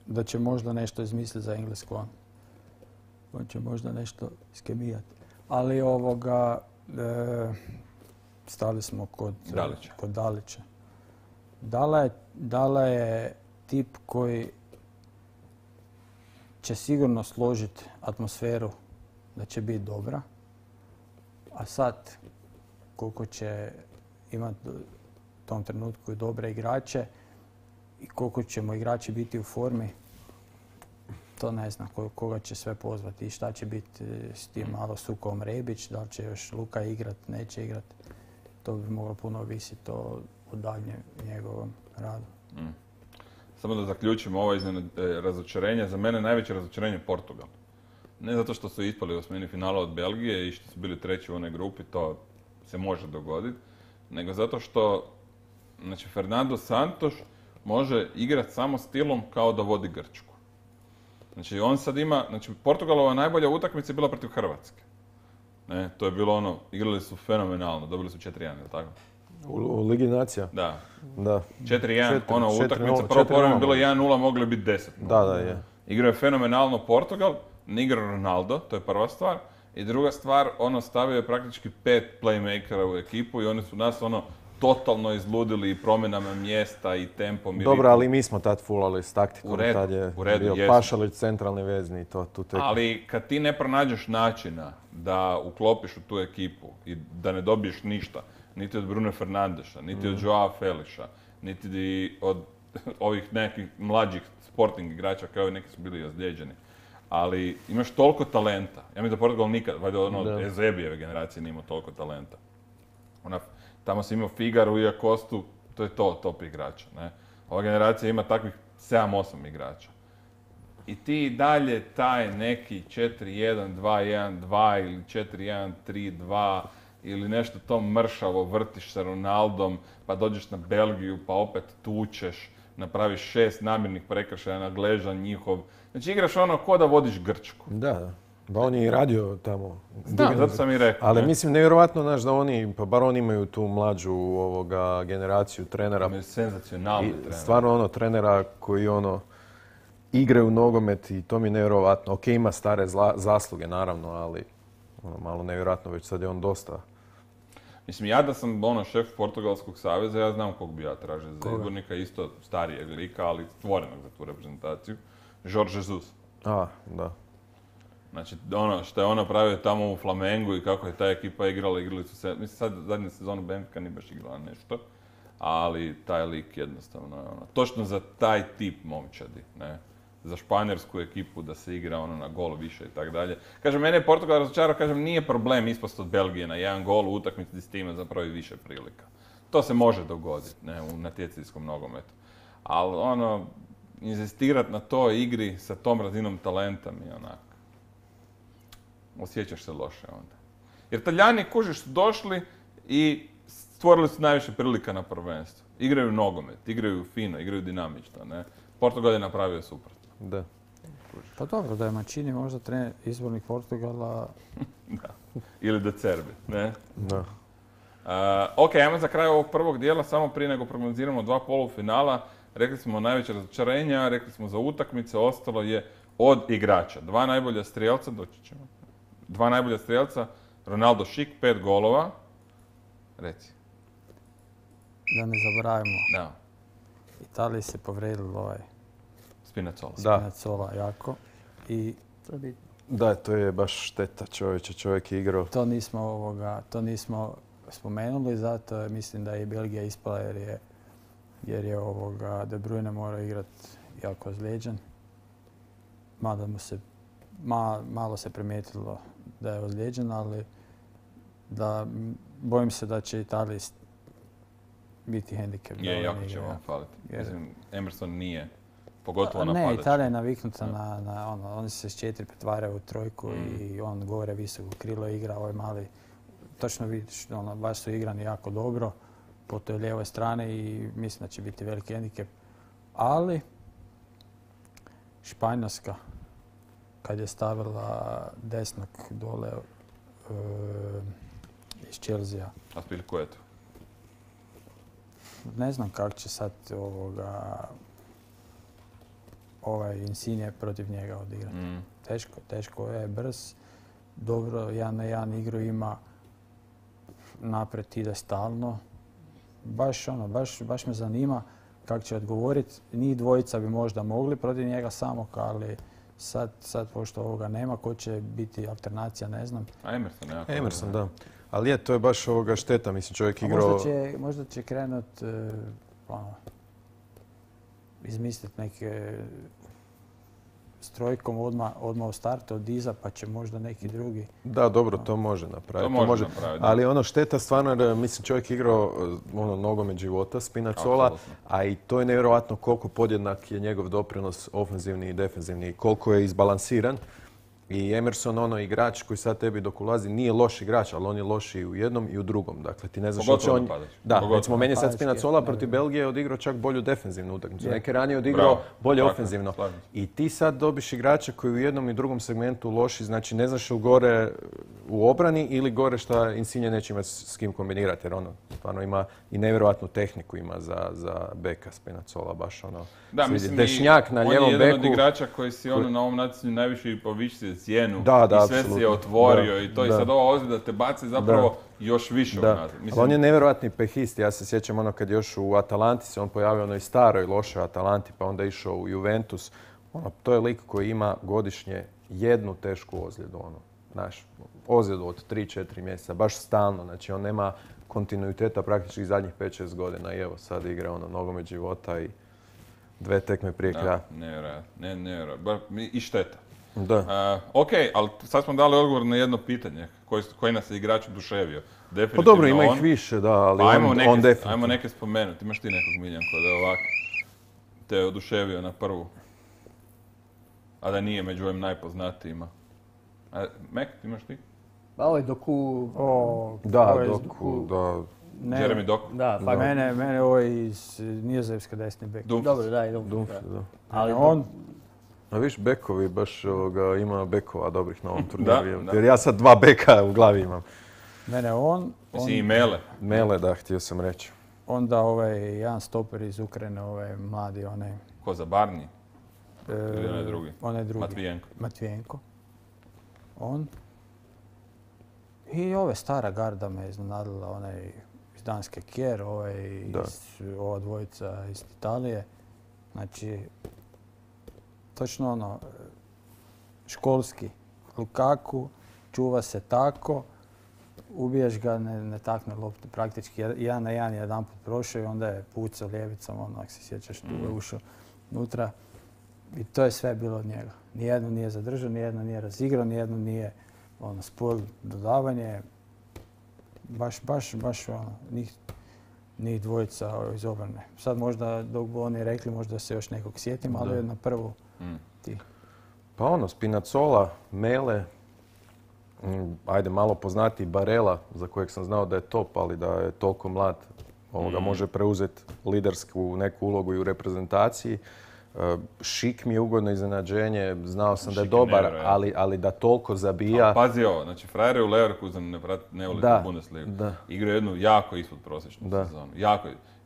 da će možda nešto izmisliti za Englesku. On će možda nešto iskemijati. Ali stali smo kod Dalića. Dala je tip koji će sigurno složiti atmosferu da će biti dobra. A sad, koliko će imati u tom trenutku i dobre igrače i koliko ćemo igrači biti u formi, to ne znam koga će sve pozvati i šta će biti s tim malo Sukom Rebić, da li će još Luka igrat, neće igrat. To bi moglo puno ovisiti o daljnjem njegovom radu. Samo da zaključimo ovo razočarenje. Za mene najveće razočarenje je Portugal. Ne zato što su ispali u osmini finala od Belgije i što su bili treći u onoj grupi, to se može dogoditi, nego zato što Fernando Santos može igrati samo stilom kao da vodi Grčku. Znači on sad ima, Portugalova najbolja utakmica je bila protiv Hrvatske. Ne, to je bilo igrali su fenomenalno, dobili su 4-1, je li tako? U Ligi nacija? Da. 4-1, utakmica, prvo povremeno je bilo 1-0, mogli biti 10. Da, je. Igrao je fenomenalno Portugal, ne igrao Ronaldo, to je prva stvar. I druga stvar, stavio je praktički 5 playmakera u ekipu i oni su nas totalno izludili i promjenama mjesta i tempom. Dobro, ali mi smo tad fulali s taktikom. U redu, tad je bio jesmo. Pašalić centralni vezni i to tu tek. Ali kad ti ne pronađeš načina da uklopiš u tu ekipu i da ne dobiješ ništa, niti od Bruno Fernandeša, niti od Joao Felixa, niti od ovih nekih mlađih sporting igrača kao i neki su bili ozlijeđeni. Ali imaš toliko talenta. Ja mislim da Portugal nikad, valjda Ezebijeve generacije nije imao toliko talenta. Tamo si imao Figaru i Acostu, to je top igrača. Ne? Ova generacija ima takvih 7-8 igrača. I ti dalje taj neki 4-1-2-1-2 ili 4-1-3-2 ili nešto to mršavo vrtiš sa Ronaldom, pa dođeš na Belgiju, pa opet tučeš, napraviš 6 namjernih prekršaja na Gležan njihov. Znači igraš ko da vodiš Grčku. Da. Ba on je i radio tamo. Da, zato sam i rekao. Ali mislim nevjerojatno da oni, pa bar oni imaju tu mlađu generaciju trenera. Imaju senzacionalni trenera. Stvarno trenera koji igraju nogomet i to mi je nevjerojatno. Ok, ima stare zasluge naravno, ali malo nevjerojatno, već sad je on dosta. Mislim, ja da sam šef Portugalskog saveza, ja znam kog bi ja tražio za izbornika, isto starijeg lika, ali stvorenog za tu reprezentaciju. Jorge Jesus. Da. Znači, što je on napravio tamo u Flamengu i kako je ta ekipa igrali su se, mislim sad zadnju sezonu Benfica nije baš igrala nešto, ali taj lik jednostavno je točno za taj tip momčadi, ne? Za španjolsku ekipu da se igra na gol više i tako dalje. Kažem, mene je Portugal razočarao, kažem, nije problem ispast od Belgije na jedan gol u utakmici gdje s time zapravo i više prilika. To se može dogoditi, ne, u natjecateljskom nogometu. Ali inzistirati na toj igri sa tom razinom talenta mi je osjećaš se loše onda. Jer Talijani, kužiš, su došli i stvorili su najviše prilika na prvenstvu. Igraju nogomet, igraju fino, igraju dinamično, ne. Portugal je napravio suprotno. Da. Pa dobro, da je Mancini možda trener izbornik Portugala. Da. Ili De Zerbi, ne? Da. Ok, ajmo za kraj ovog prvog dijela, samo prije nego prognoziramo 2 polufinala. Rekli smo najveće razočarenja, rekli smo za utakmice, ostalo je od igrača. 2 najbolja strijelca, doći ćemo. 2 najbolja strijelca, Ronaldo Šik, 5 golova. Reci. Da ne zaboravimo. Da. Italiji se povredilo Spinazzola jako. I to je bitno. Da, to je baš šteta, čovjek je igrao. To nismo spomenuli, zato mislim da je i Belgija ispala jer je De Bruyne morao igrati jako ozlijeđen. Mada malo se primijetilo da je ozlijeđen, ali bojim se da će Italiji biti hendikep. Jako će vam faliti. Mislim, Emerson nije, pogotovo napadač. Ne, Italija je naviknuta oni se s 4 pretvaraju u trojku i on gore visoko krilo igra, ovaj mali, točno vidiš, baš su igrani jako dobro po toj lijevoj strani i mislim da će biti veliki hendikep. Ali Španjolska, kad je stavila desnog dole iz Chelsea. A ko je to? Ne znam kako će sad ovaj Insigne protiv njega odigrati. Teško je, brz, dobro, 1 na 1 igru ima, naprijed ide stalno. Baš me zanima kako će odgovoriti. Njih dvojica bi možda mogli protiv njega samog, ali sad pošto ovoga nema, ko će biti alternacija, ne znam. A Emerson, jako. Emerson, da. Ali to je baš šteta, mislim, čovjek igrao... Možda će krenut izmisliti neke s trojkom odmah u startu od iza, pa će možda neki drugi... Da, dobro, to može napraviti. To može napraviti. Ali šteta stvarno, mislim, čovjek igrao nogomet života, Spinazzola, a i to je nevjerojatno koliko podjednak je njegov doprinos ofenzivni i defenzivni, koliko je izbalansiran. I Emerson, igrač koji sad tebi dok ulazi, nije loš igrač, ali on je loš i u jednom i u drugom. Dakle, ti ne znaš što će on... Da, recimo, meni je sad Spinazzola protiv Belgije odigrao čak bolju defenzivnu utakmicu. Neke ranije odigrao bolje ofenzivno. I ti sad dobiš igrača koji u jednom i drugom segmentu loši, znači ne znaš gore u obrani ili gore šta Insigne neće imati s kim kombinirati, jer stvarno ima i nevjerojatnu tehniku ima za beka Spinazzola, baš Da, mislim, dešnjak na lijevom beku. On je jedan od igrača koji si na ovom natjecanju najviše poviši cijenu i sve si je otvorio i to i sad ova ozljeda te baci zapravo još više unazad. Ali on je nevjerojatni pehist, ja se sjećam kad još u Atalanti se on pojavio onoj staroj lošoj Atalanti pa onda išao u Juventus. To je lik koji ima godišnje jednu tešku ozljedu, ozljedu od 3-4 mjeseca, baš stalno, znači on nema kontinuiteta praktički zadnjih 5-6 godina i evo sad igra nogomet života i 2 tekme prije kraja. Nevjerojatno, i šteta. Da. Ok, ali sad smo dali odgovor na jedno pitanje. Koji nas je igrač oduševio? Pa dobro, ima ih više, da, ali on definitivno. Ajmo neke spomenuti. Imaš ti nekog Miljanko da je ovak te oduševio na prvu? A da nije među ovim najpoznatijima. Mek, imaš ti? Pa ovaj Doku... Doku, da. Jeremy Doku? Da, pa mene ovaj iz Nizozemske desni bek. Dobro, da, i Dumfries. Ali on... A viš, bekovi, baš ima bekova dobrih na ovom turniru. Jer ja sad 2 beka u glavi imam. Mene on... I Mele. Mele, da, htio sam reći. Onda jedan stoper iz Ukrajine, mladi, Ko za Barni? Ili onaj drugi? Onaj drugi. Matvijenko. On. I stara garda me iznenadila, iz Danske Kjer, ova dvojica iz Italije. Znači, točno školski. Lukaku, čuva se tako, ubiješ ga, ne takne loptu. Praktički 1 na 1 jedan put prošao i onda je pucao lijevicom, ako se sjećaš, tu je ušao unutra. I to je sve bilo od njega. Nijedno nije zadržao, nijedno nije razigrao, nijedno nije spor, dodavanje. Baš njih dvojica iz obrane. Sad možda, dok bi oni rekli, možda se još nekog sjetim, ali na prvu ti. Pa Spinazzola, Mele, ajde malo poznati Barella, za kojeg sam znao da je top, ali da je toliko mlad, može preuzeti lidersku neku ulogu i u reprezentaciji. Šik mi je ugodno iznenađenje, znao sam da je dobar, ali da toliko zabija. Pazi ovo, znači frajer je u Leverkusenu ne voli Bundesligu. Igra jednu jako ispod prosječnu sezonu.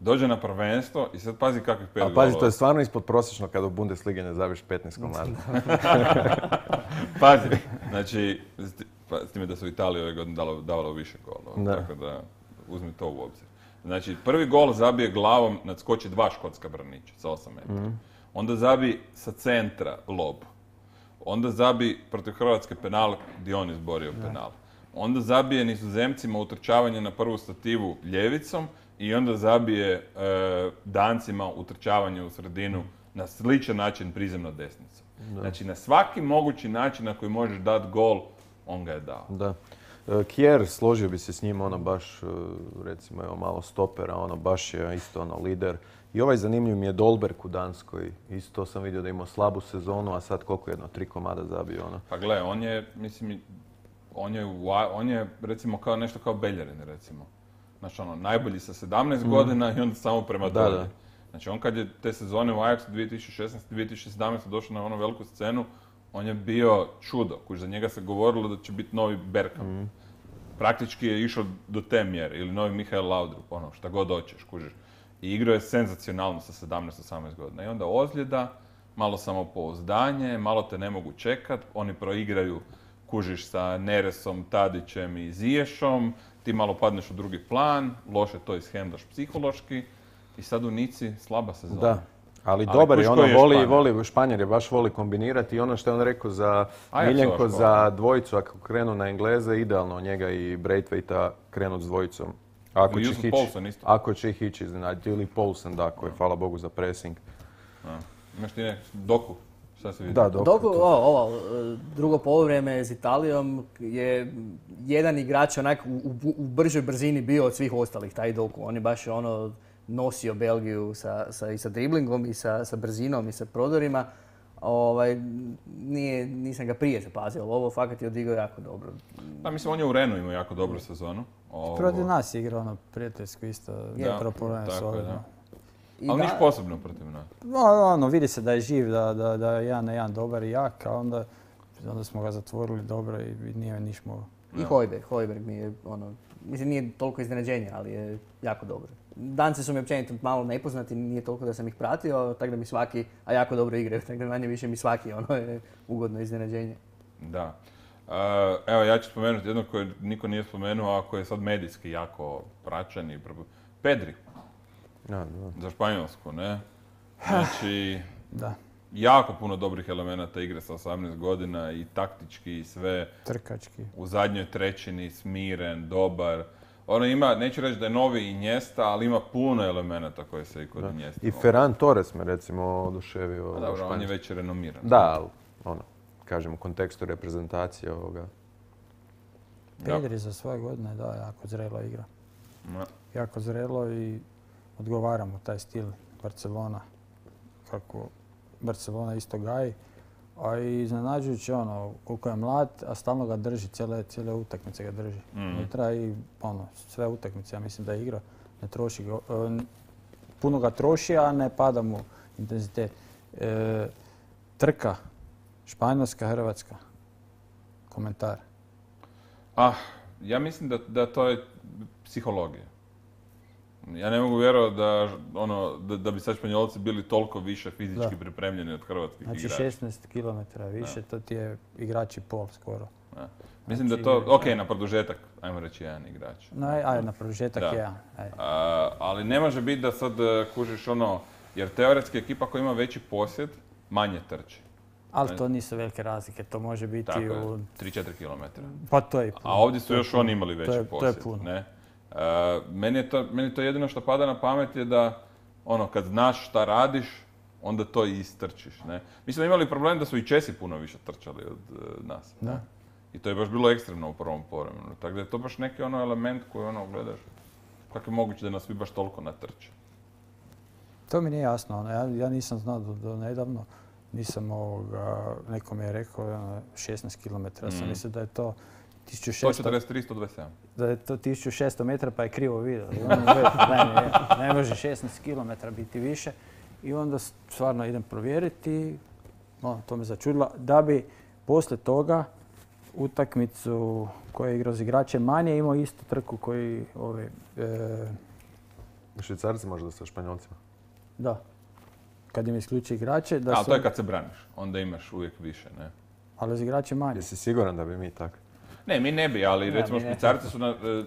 Dođe na prvenstvo i sad pazi kakvih 5 golova. A pazi, to je stvarno ispod prosječno kada u Bundesligi ne zabiješ 15 komada. Pazi, znači, s time da su Italiji ove godine davalo više golova, tako da uzmi to u obzir. Znači, prvi gol zabije glavom, nadskoči 2 škotska braniča sa 8 metara. Onda zabi sa centra lob. Onda zabi protiv Hrvatske penal gdje on izborio penal. onda zabije Nizozemcima utrčavanje na prvu stativu ljevicom i onda zabije Dancima utrčavanje u sredinu na sličan način prizemno desnicom. Znači na svaki mogući način na koji možeš dati gol, on ga je dao. Da. Kjer, složio bi se s njim, ono baš, recimo, evo malo stopera, ono baš je isto ono lider. I ovaj zanimljiv mi je Dolberg u Danskoj. Isto sam vidio da ima slabu sezonu, a sad koliko 3 komada zabio, ono. Pa gle, on je, mislim, on je recimo kao nešto kao Beljerin, recimo. Znači ono, najbolji sa 17 godina i onda samo prema dolje. Da. Znači on kad je te sezone u Ajaxu 2016-2017 došao na onu veliku scenu, on je bio čudo. Za njega se govorilo da će biti novi Bergkamp. Praktički je išao do te mjere, ili novi Mihael Laudrup, ono, šta god hoćeš, kužiš. I igrao je senzacionalno sa 17-18 godina. I onda ozljeda, malo samopouzdanje, malo te ne mogu čekat, oni proigraju, kužiš, sa Neresom, Tadićem i Ziješom, ti malo padneš u drugi plan, loše to ishendlaš psihološki i sad u Nici slaba sezona. Da. Ali dobar je, ono, Španjer je baš voli kombinirati i ono što je on rekao za Miljenko, za dvojicu, ako krenu na Engleze, idealno njega i Braithwaita krenut s dvojicom. Ako će ih ići iznenaditi, ili Poulsen, da, koji je, hvala Bogu, za pressing. Imaš ti Doku? Šta se vidi? Da, Doku, drugo poluvreme s Italijom je jedan igrač onak u bržoj brzini bio od svih ostalih, taj Doku. On je baš ono nosio Belgiju i sa driblingom i sa brzinom i sa prodorima. Nisam ga prije zapazio, ali ovo fakat je odigrao jako dobro. Pa mislim, on je u Renu imao jako dobru sezonu. Protiv nas je igrao prijateljsko isto, zapravo probleme s ovim. Ali niš posebno protiv nas. Vidi se da je živ, da je 1-1 dobar i jak, a onda smo ga zatvorili dobro i nije niš mogao. I Hojberg mi je, mislim, nije toliko iznenađenje, ali je jako dobro. Danci su mi općenito malo nepoznati, nije toliko da sam ih pratio, tako da mi svaki, a jako dobro igraju, tako da manje više mi svaki je ugodno iznenađenje. Da. Evo, ja ću spomenuti jedno koje niko nije spomenuo, a koje je sad medijski jako praćen i Pedri. Za Španjolsku, ne? Znači, jako puno dobrih elemenata igre sa 18 godina i taktički i sve. Trkački. U zadnjoj trećini, smiren, dobar. Ono ima, neću reći da je novi Iniesta, ali ima puno elemenata koje se i kod Iniesta. I Ferran Torres me recimo oduševio. Dobro, on je već renomiran. Da, ali, kažem, u kontekstu reprezentacije ovoga. Pedri za svoje godine, da, jako zrelo igra. Jako zrelo i odgovara mu taj stil Barcelona. Kako Barcelona isto gaji. A i iznenađujući koliko je mlad, a stalno ga drži, cijele utakmice ga drži. Unutra i sve utakmice, ja mislim da je igra, ne troši ga, puno ga troši, a ne pada mu intenzitet. Trka, Španjolska, Hrvatska, komentar. Ja mislim da to je psihologija. Ja ne mogu vjerovati da bi sad Španjolci bili toliko više fizički pripremljeni od hrvatskih igrača. Znači 16 km više, to ti je igrač i pol skoro. Mislim da to, na produžetak, ajmo reći jedan igrač. Na produžetak jedan. Ali ne može biti da sad kužiš jer teoretski ekipa koja ima veći posjed, manje trči. Ali to nisu velike razlike, to može biti tako u 3-4 km. Pa to je puno. A ovdje su još oni imali veći posjed. To je puno. Ne? Meni to jedino što pada na pamet je da kad znaš šta radiš, onda to i istrčiš. Ne? Mi smo imali problem da su i Česi puno više trčali od nas. Da. I to je baš bilo ekstremno u prvom povremenu. Tako da je to baš neki element koji gledaš. Kako je moguće da nas svi baš toliko natrče? To mi nije jasno. Ja nisam znao do nedavno. Neko mi je rekao 16 km. Sam mislio da je to 143, 127. Da je to 1600 metara pa je krivo vidio. Ne može 16 km biti više. I onda stvarno idem provjeriti. To me začudilo. Da bi poslije toga utakmicu koju je igrao s igračem manje imao istu trku koji Švicarci možda sa Španjolcima? Da. Kad im isključi igrače... Ali to je kad se braniš. Onda imaš uvijek više, ne? Ali s igračem manje. Jesi siguran da bi mi tako? Ne, mi ne bi, ali recimo Švicarci su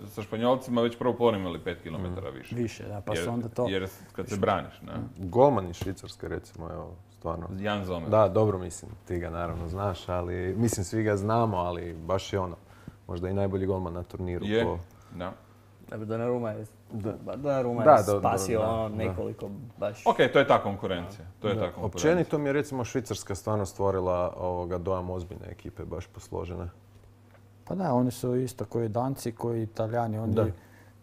sa Španjolcima već prvo povremenu imali 5 km više. Više, da, pa su onda to... Jer kad se braniš, ne? Golman iz Švicarske, recimo, evo, stvarno. Jan Zomer. Da, dobro, mislim, ti ga naravno znaš, ali, mislim, svi ga znamo, ali baš je možda i najbolji golman na turniru. Je, da. Donnarumma je spasio nekoliko baš... Ok, to je ta konkurencija. Općenito mi je recimo Švicarska stvarno stvorila dojam ozbiljne ekipe, baš posložene. Pa da, oni su isto koji Danci, koji Italijani, oni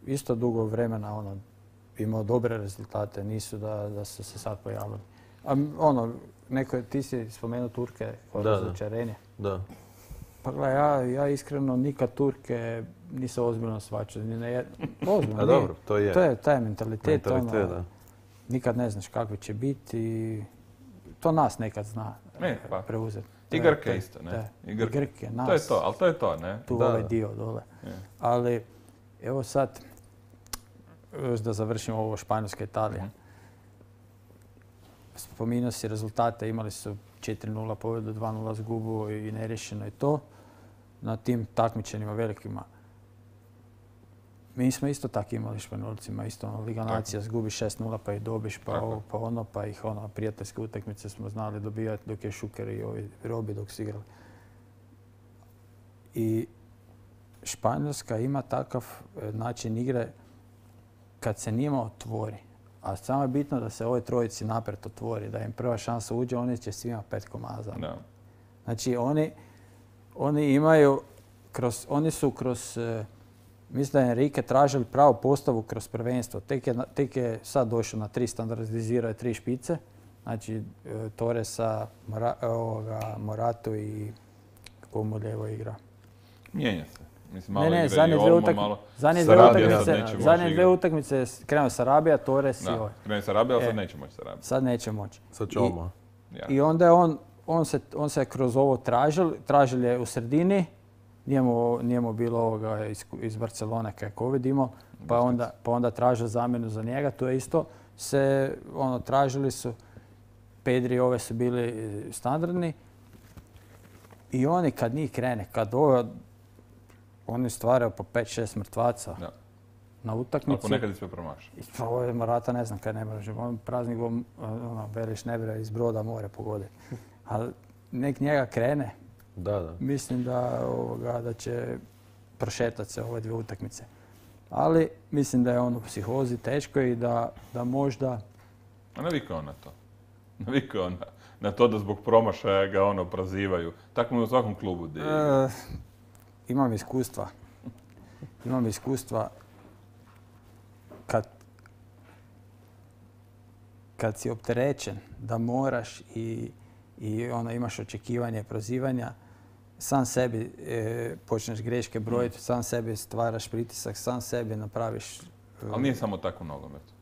isto dugo vremena imao dobre rezultate, nisu da su se sad pojavili. A ti si spomenuo Turke kao razočarenje. Da. Pa gledaj, ja iskreno nikad Turke nisam ozbiljno shvaćao. Ozbiljno, dobro, to je. To je taj mentalitet, da. Nikad ne znaš kakvi će biti i to nas nekad zna preuzeti. I Grke isto, ne? I Grke, nas. To je to, ali to je to, ne? Tu ovaj dio dole. Ali, evo sad, još da završimo ovo Španjolska Italija. Spominjao si rezultate, imali su 4-0 pobjedu, 2-0 zgubu i neriješeno je to. Na tim takmičenjima velikima. Mi smo isto tako imali Španjolcima, isto Liga Nacija zgubi 6-0 pa ih dobiš, pa ih prijateljske utakmice smo znali dobivati dok je Šuker i ovi Robi dok su igrali. I Španjolska ima takav način igre kad se njima otvori. A samo je bitno da se ovoj trojici naprijed otvori, da im prva šansa uđe, oni će svima 5 komada. No. Znači oni imaju, oni su kroz, mislim da je Enrique tražili pravu postavu kroz prvenstvo. Tek je sad došao na 3 standardizirao 3 špice. Znači Torresa, Moratu i kako mu lijevo igra. Mijenja se. Mislim, malo zadnje dvije utakmice krenuo Sarabija, Torres i ovaj. Krenuo Sarabija, ali sad neće moći Sarabija. Sad neće moći. Sad će Olmo. I onda je on se kroz ovo tražil je u sredini, nije mu bilo ovoga iz Barcelone kako vidimo, pa onda tražio zamjenu za njega, to je isto se, tražili su, Pedri i ove su bili standardni i oni kad njih krene, kad oni stvaraju po 5-6 mrtvaca na utakmici. Ali ponekad i sve promaši. Ovo je Morata, ne znam kad ne može. Praznik Beliš ne bira iz broda more pogoditi. Ali nek njega krene. Mislim da će prošetati se ove dvije utakmice. Ali mislim da je on u psihozi teško i da možda... A navikao na to. Navikao na to da zbog promašaja ga prozivaju. Tako mu u svakom klubu. Imam iskustva kad si opterećen da moraš i imaš očekivanje prozivanja, sam sebi počneš greške brojiti, sam sebi stvaraš pritisak, sam sebi napraviš... Ali nije samo tako u nogometu.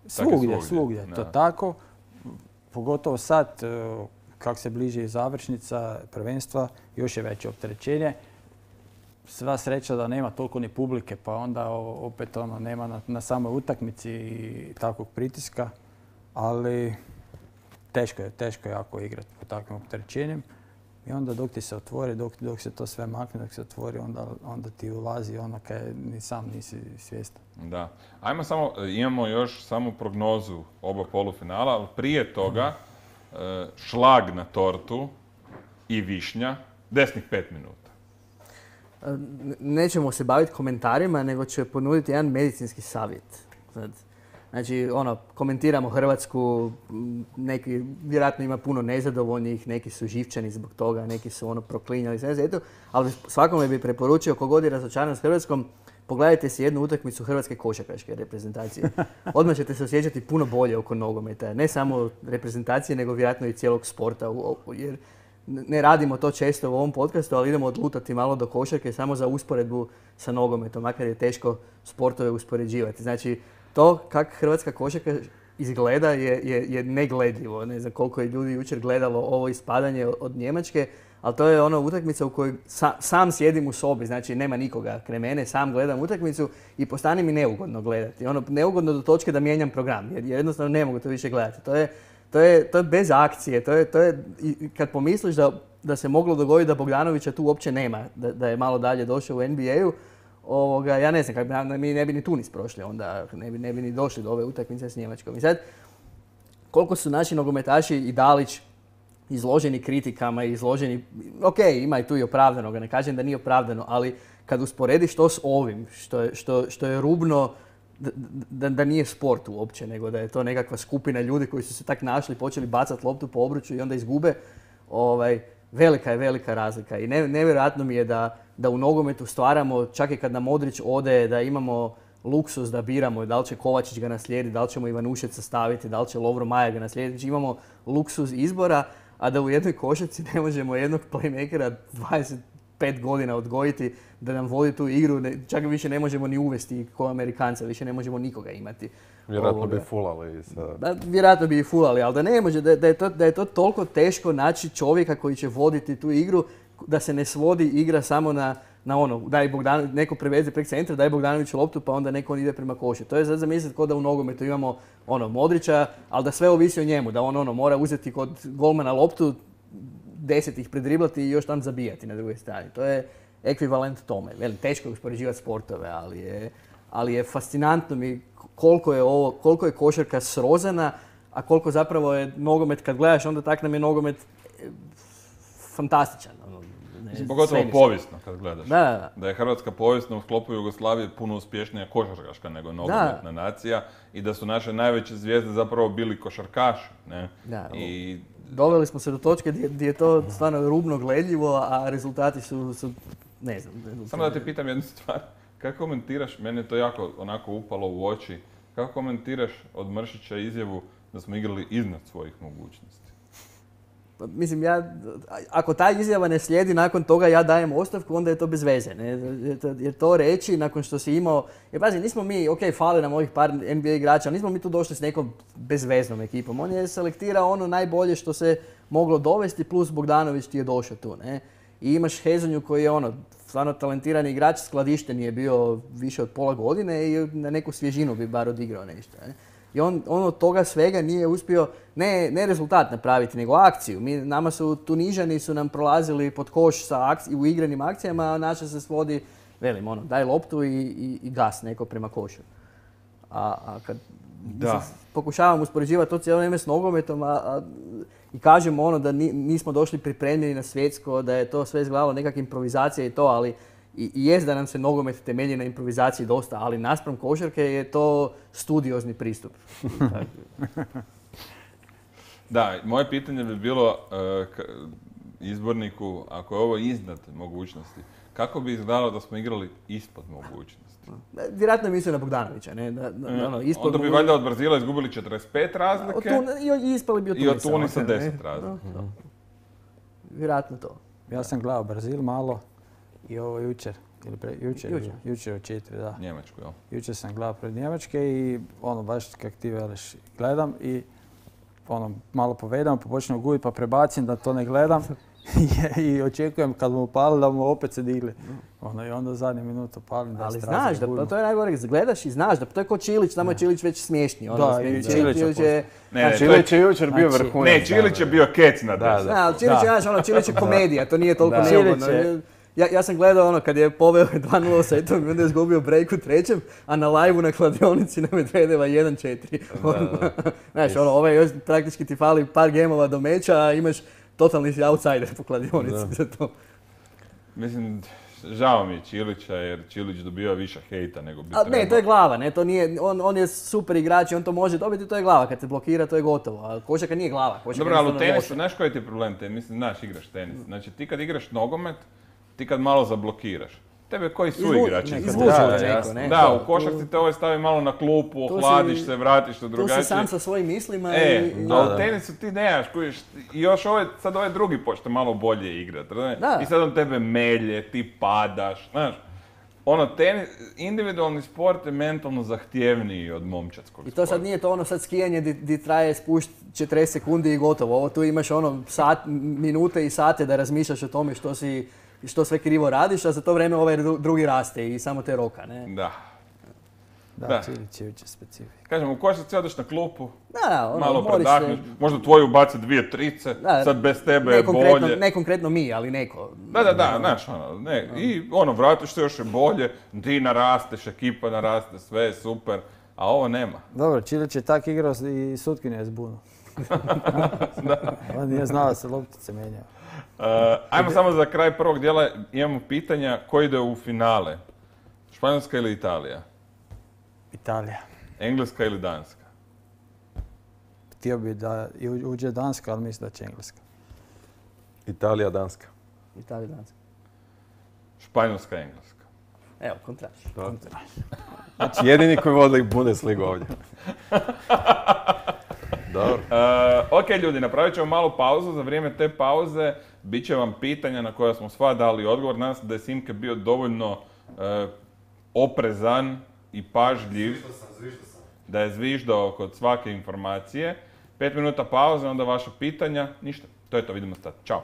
Svugdje. To tako. Pogotovo sad, kako se bliži završnica prvenstva, još je veće opterećenje. Sva sreća da nema toliko ni publike, pa onda opet nema na samoj utakmici i takvog pritiska. Ali teško je jako igrati pod takvim opterećenjem. I onda dok ti se otvori, dok se to sve makne, dok se otvori, onda ti ulazi kad ni sam nisi svjestan. Da. Imamo još samo prognozu oba polufinala, ali prije toga šlag na tortu i višnja, desnih 5 minuta. Nećemo se baviti komentarima, nego ću ponuditi jedan medicinski savjet. Znači, komentiramo Hrvatsku, neki, vjerojatno ima puno nezadovoljnih, neki su živčani zbog toga, neki su proklinjali sve, ali svakome bi preporučio, kogod je razočaran s Hrvatskom, pogledajte si jednu utakmicu hrvatske košarkaške reprezentacije. Odmah ćete se osjećati puno bolje oko nogometa. Ne samo reprezentacije, nego vjerojatno i cijelog sporta. Jer ne radimo to često u ovom podcastu, ali idemo odlutati malo do košarke samo za usporedbu sa nogometom, makar je teško sportove uspoređivati. Znači, to kako hrvatska košarka izgleda je negledljivo. Ne znam koliko je ljudi jučer gledalo ovo ispadanje od Njemačke, ali to je utakmica u kojoj sam sjedim u sobi, znači nema nikoga kraj mene, sam gledam utakmicu i postane mi neugodno gledati. Neugodno do točke da mijenjam program, jer jednostavno ne mogu to više gledati. To je bez akcije, to je kad pomisliš da se moglo dogoditi da Bogdanovića tu uopće nema, da je malo dalje došao u NBA-u, ja ne znam, mi ne bi ni Tunis prošli onda, ne bi ni došli do ove utakmice s Njemačkom. I sad, koliko su naši nogometaši i Dalić izloženi kritikama, izloženi, ok, ima i tu i opravdanog, ne kažem da nije opravdano, ali kad usporediš to s ovim, što je rubno, da nije sport uopće, nego da je to nekakva skupina ljudi koji su se tak našli, počeli bacati loptu po obruču i onda izgube, velika je velika razlika. I nevjerojatno mi je da u nogometu stvaramo, čak i kad nam Modrić ode, da imamo luksuz da biramo da li će Kovačić ga naslijediti, da li ćemo Ivanušeca staviti, da li će Lovro Maja ga naslijediti. Znači imamo luksuz izbora, a da u jednoj košarci ne možemo jednog playmakera 25 godina odgojiti da nam vodi tu igru, čak više ne možemo ni uvesti ko Amerikanca, više ne možemo nikoga imati. Vjerojatno bi fulali. Vjerojatno bi i fulali, ali da ne može, da je to toliko teško naći čovjeka koji će voditi tu igru, da se ne svodi igra samo na ono, daj Bogdanović, neko preveze prek centra, daj Bogdanoviću loptu pa onda neko ide prema košu. To je za zamisliti kao da u nogometu imamo Modrića, ali da sve ovisi o njemu, da on mora uzeti kod golmana loptu, 10 ih predriblati i još tam zabijati na drugoj strani. To je ekvivalent tome. Teško je uspoređivati sportove, ali je fascinantno mi koliko je košarka srozana, a koliko zapravo je nogomet, kad gledaš, onda tak nam je nogomet fantastičan. Pogotovo povijesno kad gledaš. Da je Hrvatska povijesno u sklopu Jugoslavije puno uspješnija košarkaška nego nogometna nacija i da su naše najveće zvijezde zapravo bili košarkaši. Ne? I doveli smo se do točke gdje je to stvarno rubno gledljivo, a rezultati su ne znam. Samo da te pitam jednu stvar. Kako komentiraš, meni je to jako onako upalo u oči, kako komentiraš od Mršića izjavu da smo igrali iznad svojih mogućnosti? Mislim, ako ta izjava ne slijedi nakon toga ja dajem ostavku, onda je to bez veze. Ne? Jer to reći nakon što si imao... Jer pazi, nismo mi, fali nam ovih par NBA igrača, nismo mi tu došli s nekom bezveznom ekipom. On je selektirao ono najbolje što se moglo dovesti, plus Bogdanović ti je došao tu. Ne? I imaš Hezonju koji je stvarno talentirani igrač, skladišten je bio više od pola godine i na neku svježinu bi bar odigrao nešto. Ne? I on od toga svega nije uspio ne rezultat napraviti, nego akciju. Nama su Tunižani su nam prolazili pod koš u igranim akcijama, a naša se svodi, daj loptu i gas neko prema košu. A kad pokušavam uspoređivati to cijelo vrijeme s nogometom i kažemo da nismo došli pripremljeni na svjetsko, da je to sve izgledalo nekakva improvizacija i to, ali i jest da nam se nogomet temelji na improvizaciji dosta, ali naspram košarke je to studiozni pristup. Da, moje pitanje bi bilo izborniku, ako je ovo iznad mogućnosti, kako bi izgledalo da smo igrali ispod mogućnosti? Vjerojatno mislio na Bogdanovića. Onda bi valjda od Brazila izgubili 45 razlike i ispali bi od Tunisa. I od Tunisa 10 razlike. Vjerojatno to. Ja sam gledao Brazil malo i ovo jučer od 4, da. Njemačku, jel? Jučer sam gledao pred Njemačke i baš kak ti veliš, gledam i malo povedam, pa počnem gubiti, pa prebacim da to ne gledam i očekujem kad mu upali da mu opet se digli. I onda zadnju minutu palim da ali znaš da, to je najgore, gledaš i znaš da to je ko Čilić, tamo je Čilić već smiješni. Čilić je jučer bio vrhunac. Ne, Čilić je bio kec na deset. Čilić je komedija, to nije toliko neugodno. Ja sam gledao kad je poveo 2-0 setom i onda je izgubio break u trećem, a na live-u na kladionici na Medvedeva 1-4. Znaš, praktički ti fali par gemova do meča, a imaš totalni si outsider po kladionici za to. Mislim, žao mi je Čilića jer Čilić dobiva više hejta nego bi trebao. Ne, to je glava, ne, to nije, on je super igrač i on to može dobiti, to je glava. Kad se blokira, to je gotovo. A košarka nije glava. Dobro, ali u tenisu, znaš koji ti je problem? Mislim, znaš, igraš tenis. Znači, ti kad igraš nogomet, ti kad malo zablokiraš, tebe koji su igrači? Da, u košarci te stavi malo na klupu, ohladiš se, vratiš se drugačije. Tu si sam sa svojim mislima a u tenisu ti nemaš, i još sad ovaj drugi počne malo bolje igrati. I sad on tebe melje, ti padaš, znaš. Individualni sport je mentalno zahtjevniji od momčadskog sporta. I to sad nije to sad skijanje di traje spušt 40 sekundi i gotovo. Ovo tu imaš minute i sate da razmišljaš o tome što sve krivo radiš, a za to vrijeme ovaj drugi raste i samo te roka, ne? Da, Čilić je jučer specifik. Kažem, u košarci odeš na klupu, malo predahneš, možda tvoji ubaci 2 trice, sad bez tebe je bolje. Ne konkretno mi, ali neko. Da, znaš, i vratiš se još je bolje, ti narasteš, ekipa naraste, sve je super, a ovo nema. Dobro, Čilić je tak igrao i sutkinje je zbuno. On nije znao da se loptice mijenjaju. Ajmo samo za kraj prvog dijela, imamo pitanja ko ide u finale. Španjolska ili Italija? Italija. Engleska ili Danska? Htio bi da uđe Danska, ali mislim da će Engleska. Italija, Danska. Italija, Danska. Španjolska, Engleska. Evo, kontraš. Znači jedini koji vodi Bundesligu ovdje. Dobro. Ok ljudi, napravit ćemo malu pauzu. Za vrijeme te pauze bit će vam pitanja na koja smo sva dali odgovor. Nadam se da je Simke bio dovoljno oprezan i pažljiv. Zviždao sam. Da je zviždao kod svake informacije. 5 minuta pauze, onda vaša pitanja. Ništa, to je to, vidimo sad. Ćao.